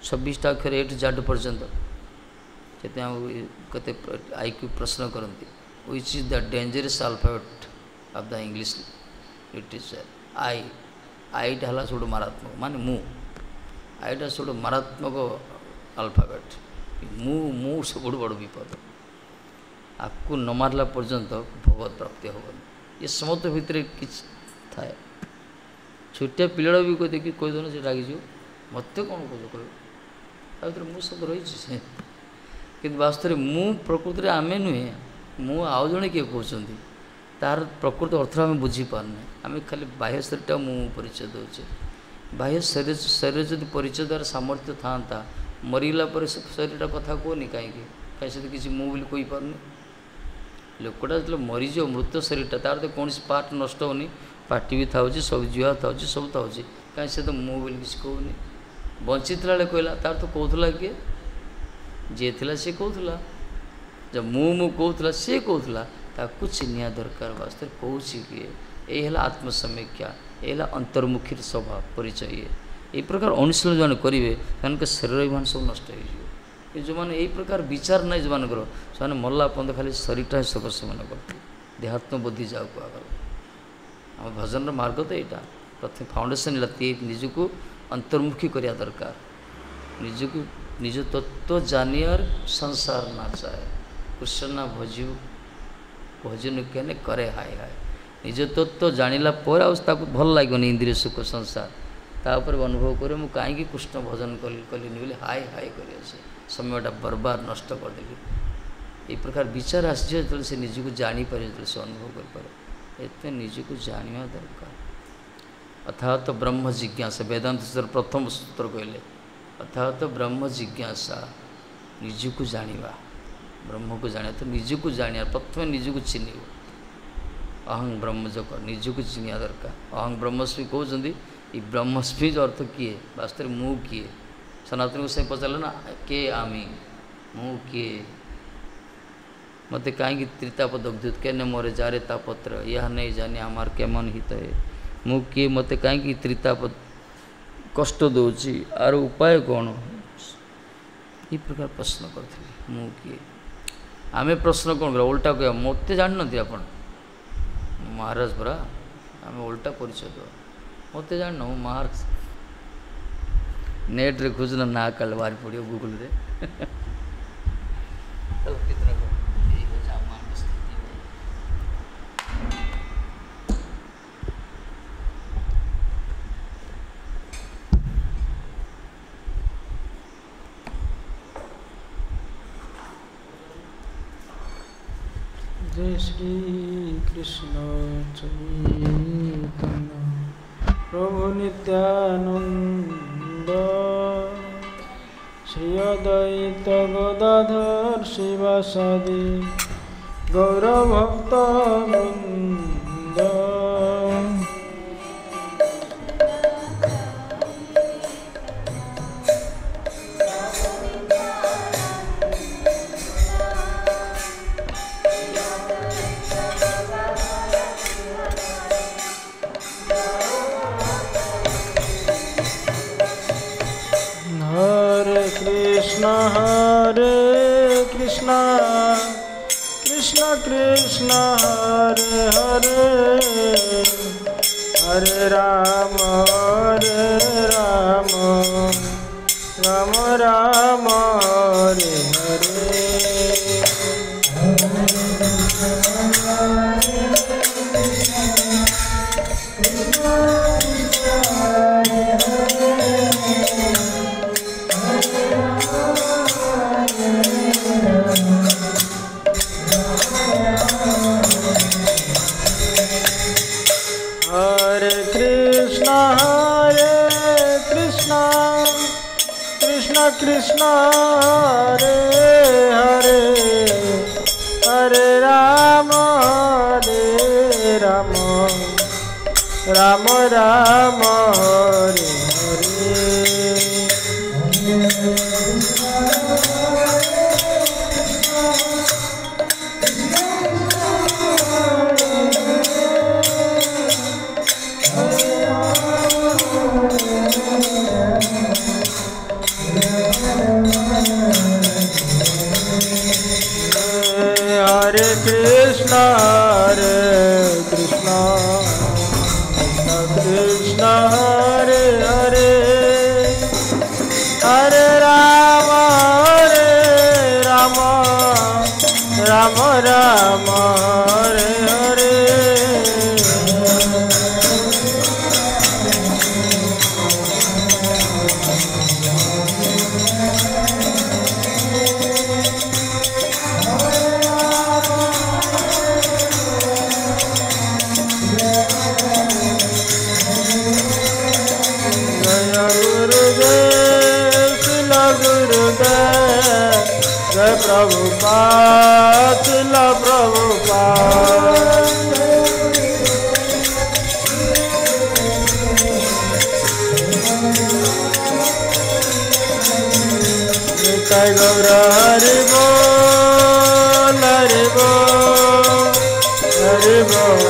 [SPEAKER 1] ଛବିଶଟା ଅକ୍ଷର ଏ ଟୁ ଜେଡ୍ ପର୍ଯ୍ୟନ୍ତ। ସେଥିପାଇଁ ଆମକୁ କେତେ I Q ପ୍ରଶ୍ନ କରନ୍ତି, which is the dangerous alphabet of the English literature? I, ଆଇଟା ହେଲା ସବୁଠୁ ମାରାତ୍ମକ, ମାନେ ମୁଁ। ଆଇଟା ସବୁଠୁ ମାରାତ୍ମକ ଆଲଫାବେଟ୍। ମୁଁ ମୁଁ ସବୁଠୁ ବଡ଼ ବିପଦ। ଆକୁ ନ ମାରିଲା ପର୍ଯ୍ୟନ୍ତ ଭଗବତ ପ୍ରାପ୍ତି ହେବନି। ଏ ସମସ୍ତ ଭିତରେ କିଛି ଥାଏ। ଛୋଟିଆ ପିଲାଟା ବି କହିଦେଇକି କହିଦେଉନ ସେ ରାଗିଯିବ, ମୋତେ କ'ଣ କହୁଛ କହିବ, ତା ଭିତରେ ମୁଁ ଶବ୍ଦ ରହିଛି ସେ। କିନ୍ତୁ ବାସ୍ତବରେ ମୁଁ ପ୍ରକୃତିରେ ଆମେ ନୁହେଁ, ମୁଁ ଆଉ ଜଣେ କିଏ କହୁଛନ୍ତି, ତାର ପ୍ରକୃତ ଅର୍ଥ ଆମେ ବୁଝିପାରୁନେ। ଆମେ ଖାଲି ବାହ୍ୟ ଶରୀରଟା ମୁଁ ପରିଚୟ ଦେଉଛେ। ବାହ୍ୟ ଶରୀର ଶରୀର ଯଦି ପରିଚୟ ଦେବାର ସାମର୍ଥ୍ୟ ଥାଆନ୍ତା, ମରିଗଲା ପରେ ସେ ଶରୀରଟା କଥା କୁହନି କାହିଁକି? କାହିଁ ସେ ତ କିଛି ମୁଁ ବୋଲି କହିପାରୁନି। ଲୋକଟା ଯେତେବେଳେ ମରିଯିବ, ମୃତ ଶରୀରଟା, ତାର ତ କୌଣସି ପାର୍ଟ ନଷ୍ଟ ହେଉନି, ପାଟି ବି ଥାଉଛି, ସବୁ ଜିଭ ଥାଉଛି, ସବୁ ଥାଉଛି, କାହିଁ ସେ ତ ମୁଁ ବୋଲି କିଛି କହୁନି। ବଞ୍ଚିଥିଲା ବେଳେ କହିଲା, ତାର ତ କହୁଥିଲା କିଏ? ଯିଏ ଥିଲା ସିଏ କହୁଥିଲା, ଯେ ମୁଁ ମୁଁ କହୁଥିଲା ସିଏ କହୁଥିଲା, ତାକୁ ଚିହ୍ନିବା ଦରକାର। ବାସ୍ତବରେ କହୁଛି କିଏ? ଏଇ ହେଲା ଆତ୍ମସମୀକ୍ଷା, ଏଇ ହେଲା ଅନ୍ତର୍ମୁଖୀର ସ୍ୱଭାବ ପରିଚୟ। ଇଏ ଏଇ ପ୍ରକାର ଅନୁଶୀଳନ ଯେଉଁମାନେ କରିବେ ସେମାନଙ୍କ ଶରୀର ଅଭିମାନ ସବୁ ନଷ୍ଟ ହେଇଯିବ। କିନ୍ତୁ ଯେଉଁମାନେ ଏଇ ପ୍ରକାର ବିଚାର ନାହିଁ ଯେଉଁମାନଙ୍କର, ସେମାନେ ମଲା ପର୍ଯ୍ୟନ୍ତ ଖାଲି ଶରୀରଟା ହିଁ ସର୍ବସ୍ୱ ମନେ କରନ୍ତି, ଦେହାତ୍ମବୁଦ୍ଧି ଯାହାକୁ କୁହାଗଲା। ଆମ ଭଜନର ମାର୍ଗ ତ ଏଇଟା। ପ୍ରଥମେ ଫାଉଣ୍ଡେସନ୍ ହେଲା ନିଜକୁ ଅନ୍ତର୍ମୁଖୀ କରିବା ଦରକାର, ନିଜକୁ ନିଜ ତତ୍ତ୍ୱ ଜାଣିବାର ସଂସାର ନା ଚାହେ, କୃଷ୍ଣ ନା ଭଜିବ ଭଜନ କେନେ କରେ ହାୟ ହାୟ। ନିଜ ତତ୍ତ୍ୱ ଜାଣିଲା ପରେ ଆଉ ତାକୁ ଭଲ ଲାଗିବନି ଇନ୍ଦ୍ରିୟ ସୁଖ ସଂସାର। ତାପରେ ଅନୁଭବ କରିବ ମୁଁ କାହିଁକି କୃଷ୍ଣ ଭଜନ କଲି କଲିନି ବୋଲି ହାୟ ହାୟ କରିବ, ସେ ସମୟଟା ବର୍ବାଦ ନଷ୍ଟ କରିଦେଲି। ଏଇ ପ୍ରକାର ବିଚାର ଆସିଯିବ ଯେତେବେଳେ ସେ ନିଜକୁ ଜାଣିପାରିବ, ଯେତେବେଳେ ସେ ଅନୁଭବ କରିପାରିବ। ଏତେ ନିଜକୁ ଜାଣିବା ଦରକାର। ଅର୍ଥାତ ବ୍ରହ୍ମ ଜିଜ୍ଞାସା, ବେଦାନ୍ତ ସୂତ୍ର ପ୍ରଥମ ସୂତ୍ର କହିଲେ ଅର୍ଥାତ ବ୍ରହ୍ମ ଜିଜ୍ଞାସା, ନିଜକୁ ଜାଣିବା, ବ୍ରହ୍ମକୁ ଜାଣିବା। ତ ନିଜକୁ ଜାଣିବା, ପ୍ରଥମେ ନିଜକୁ ଚିହ୍ନିବ। ଅହଂ ବ୍ରହ୍ମ ଯୋଗ, ନିଜକୁ ଚିହ୍ନିବା ଦରକାର। ଅହଂ ବ୍ରହ୍ମସ୍ମି କହୁଛନ୍ତି, ଏଇ ବ୍ରହ୍ମସ୍ମି ଅର୍ଥ କିଏ? ବାସ୍ତବରେ ମୁଁ କିଏ? ସନାତନକୁ ସେ ପଚାରିଲେ ନା, କେ ଆମେ, ମୁଁ କିଏ? ମୋତେ କାହିଁକି ତ୍ରିତାପ ଦଗ୍ଧୁତ କେନେ ମୋରେ ଯାରେ ତାପତ୍ର ଏହା ନେଇ ଜାନି ଆମର କେମନ ହିତ ହେ। ମୁଁ କିଏ? ମୋତେ କାହିଁକି ତ୍ରିତାପ କଷ୍ଟ ଦେଉଛି, ଆର ଉପାୟ କ'ଣ? ଏ ପ୍ରକାର ପ୍ରଶ୍ନ କରିଥିଲେ, ମୁଁ କିଏ? ଆମେ ପ୍ରଶ୍ନ କ'ଣ କରିବା? ଓଲଟା କହିବା, ମୋତେ ଜାଣିନାହାନ୍ତି ଆପଣ ମହାରାଜ ପରା। ଆମେ ଓଲଟା ପରିଚୟ ଦେବା, ମୋତେ ଜାଣିନ ମୁଁ ମହାରାଜ। ନେଟ୍ରେ ଖୋଜୁନ ନା କାଳେ ବାହାରି ପଡ଼ିବ ଗୁଗୁଲରେ।
[SPEAKER 2] ଜୟ ଶ୍ରୀ କୃଷ୍ଣ ଚୈତନ୍ୟ ପ୍ରଭୁ ନିତ୍ୟାନନ୍ଦ ଶ୍ରୀ ଅଦ୍ୱୈତ ଗଦାଧର ଶିବାସାଦି ଗୌରଭକ୍ତ ବୃନ୍ଦ। Hare Krishna Hare Krishna Krishna Krishna Hare Hare Hare Rama Hare Rama Rama Rama Hare Hare. Hare Krishna Hare Krishna Krishna Krishna Hare Hare Hare Rama Hare Rama Rama Rama Hare Hare. Hare Krishna Hare Krishna Krishna Krishna Hare Hare Hare Rama Hare Rama Rama Rama Hare Hare. Jai Prabhupada, Srila Prabhupada. Bol, Hari Bol.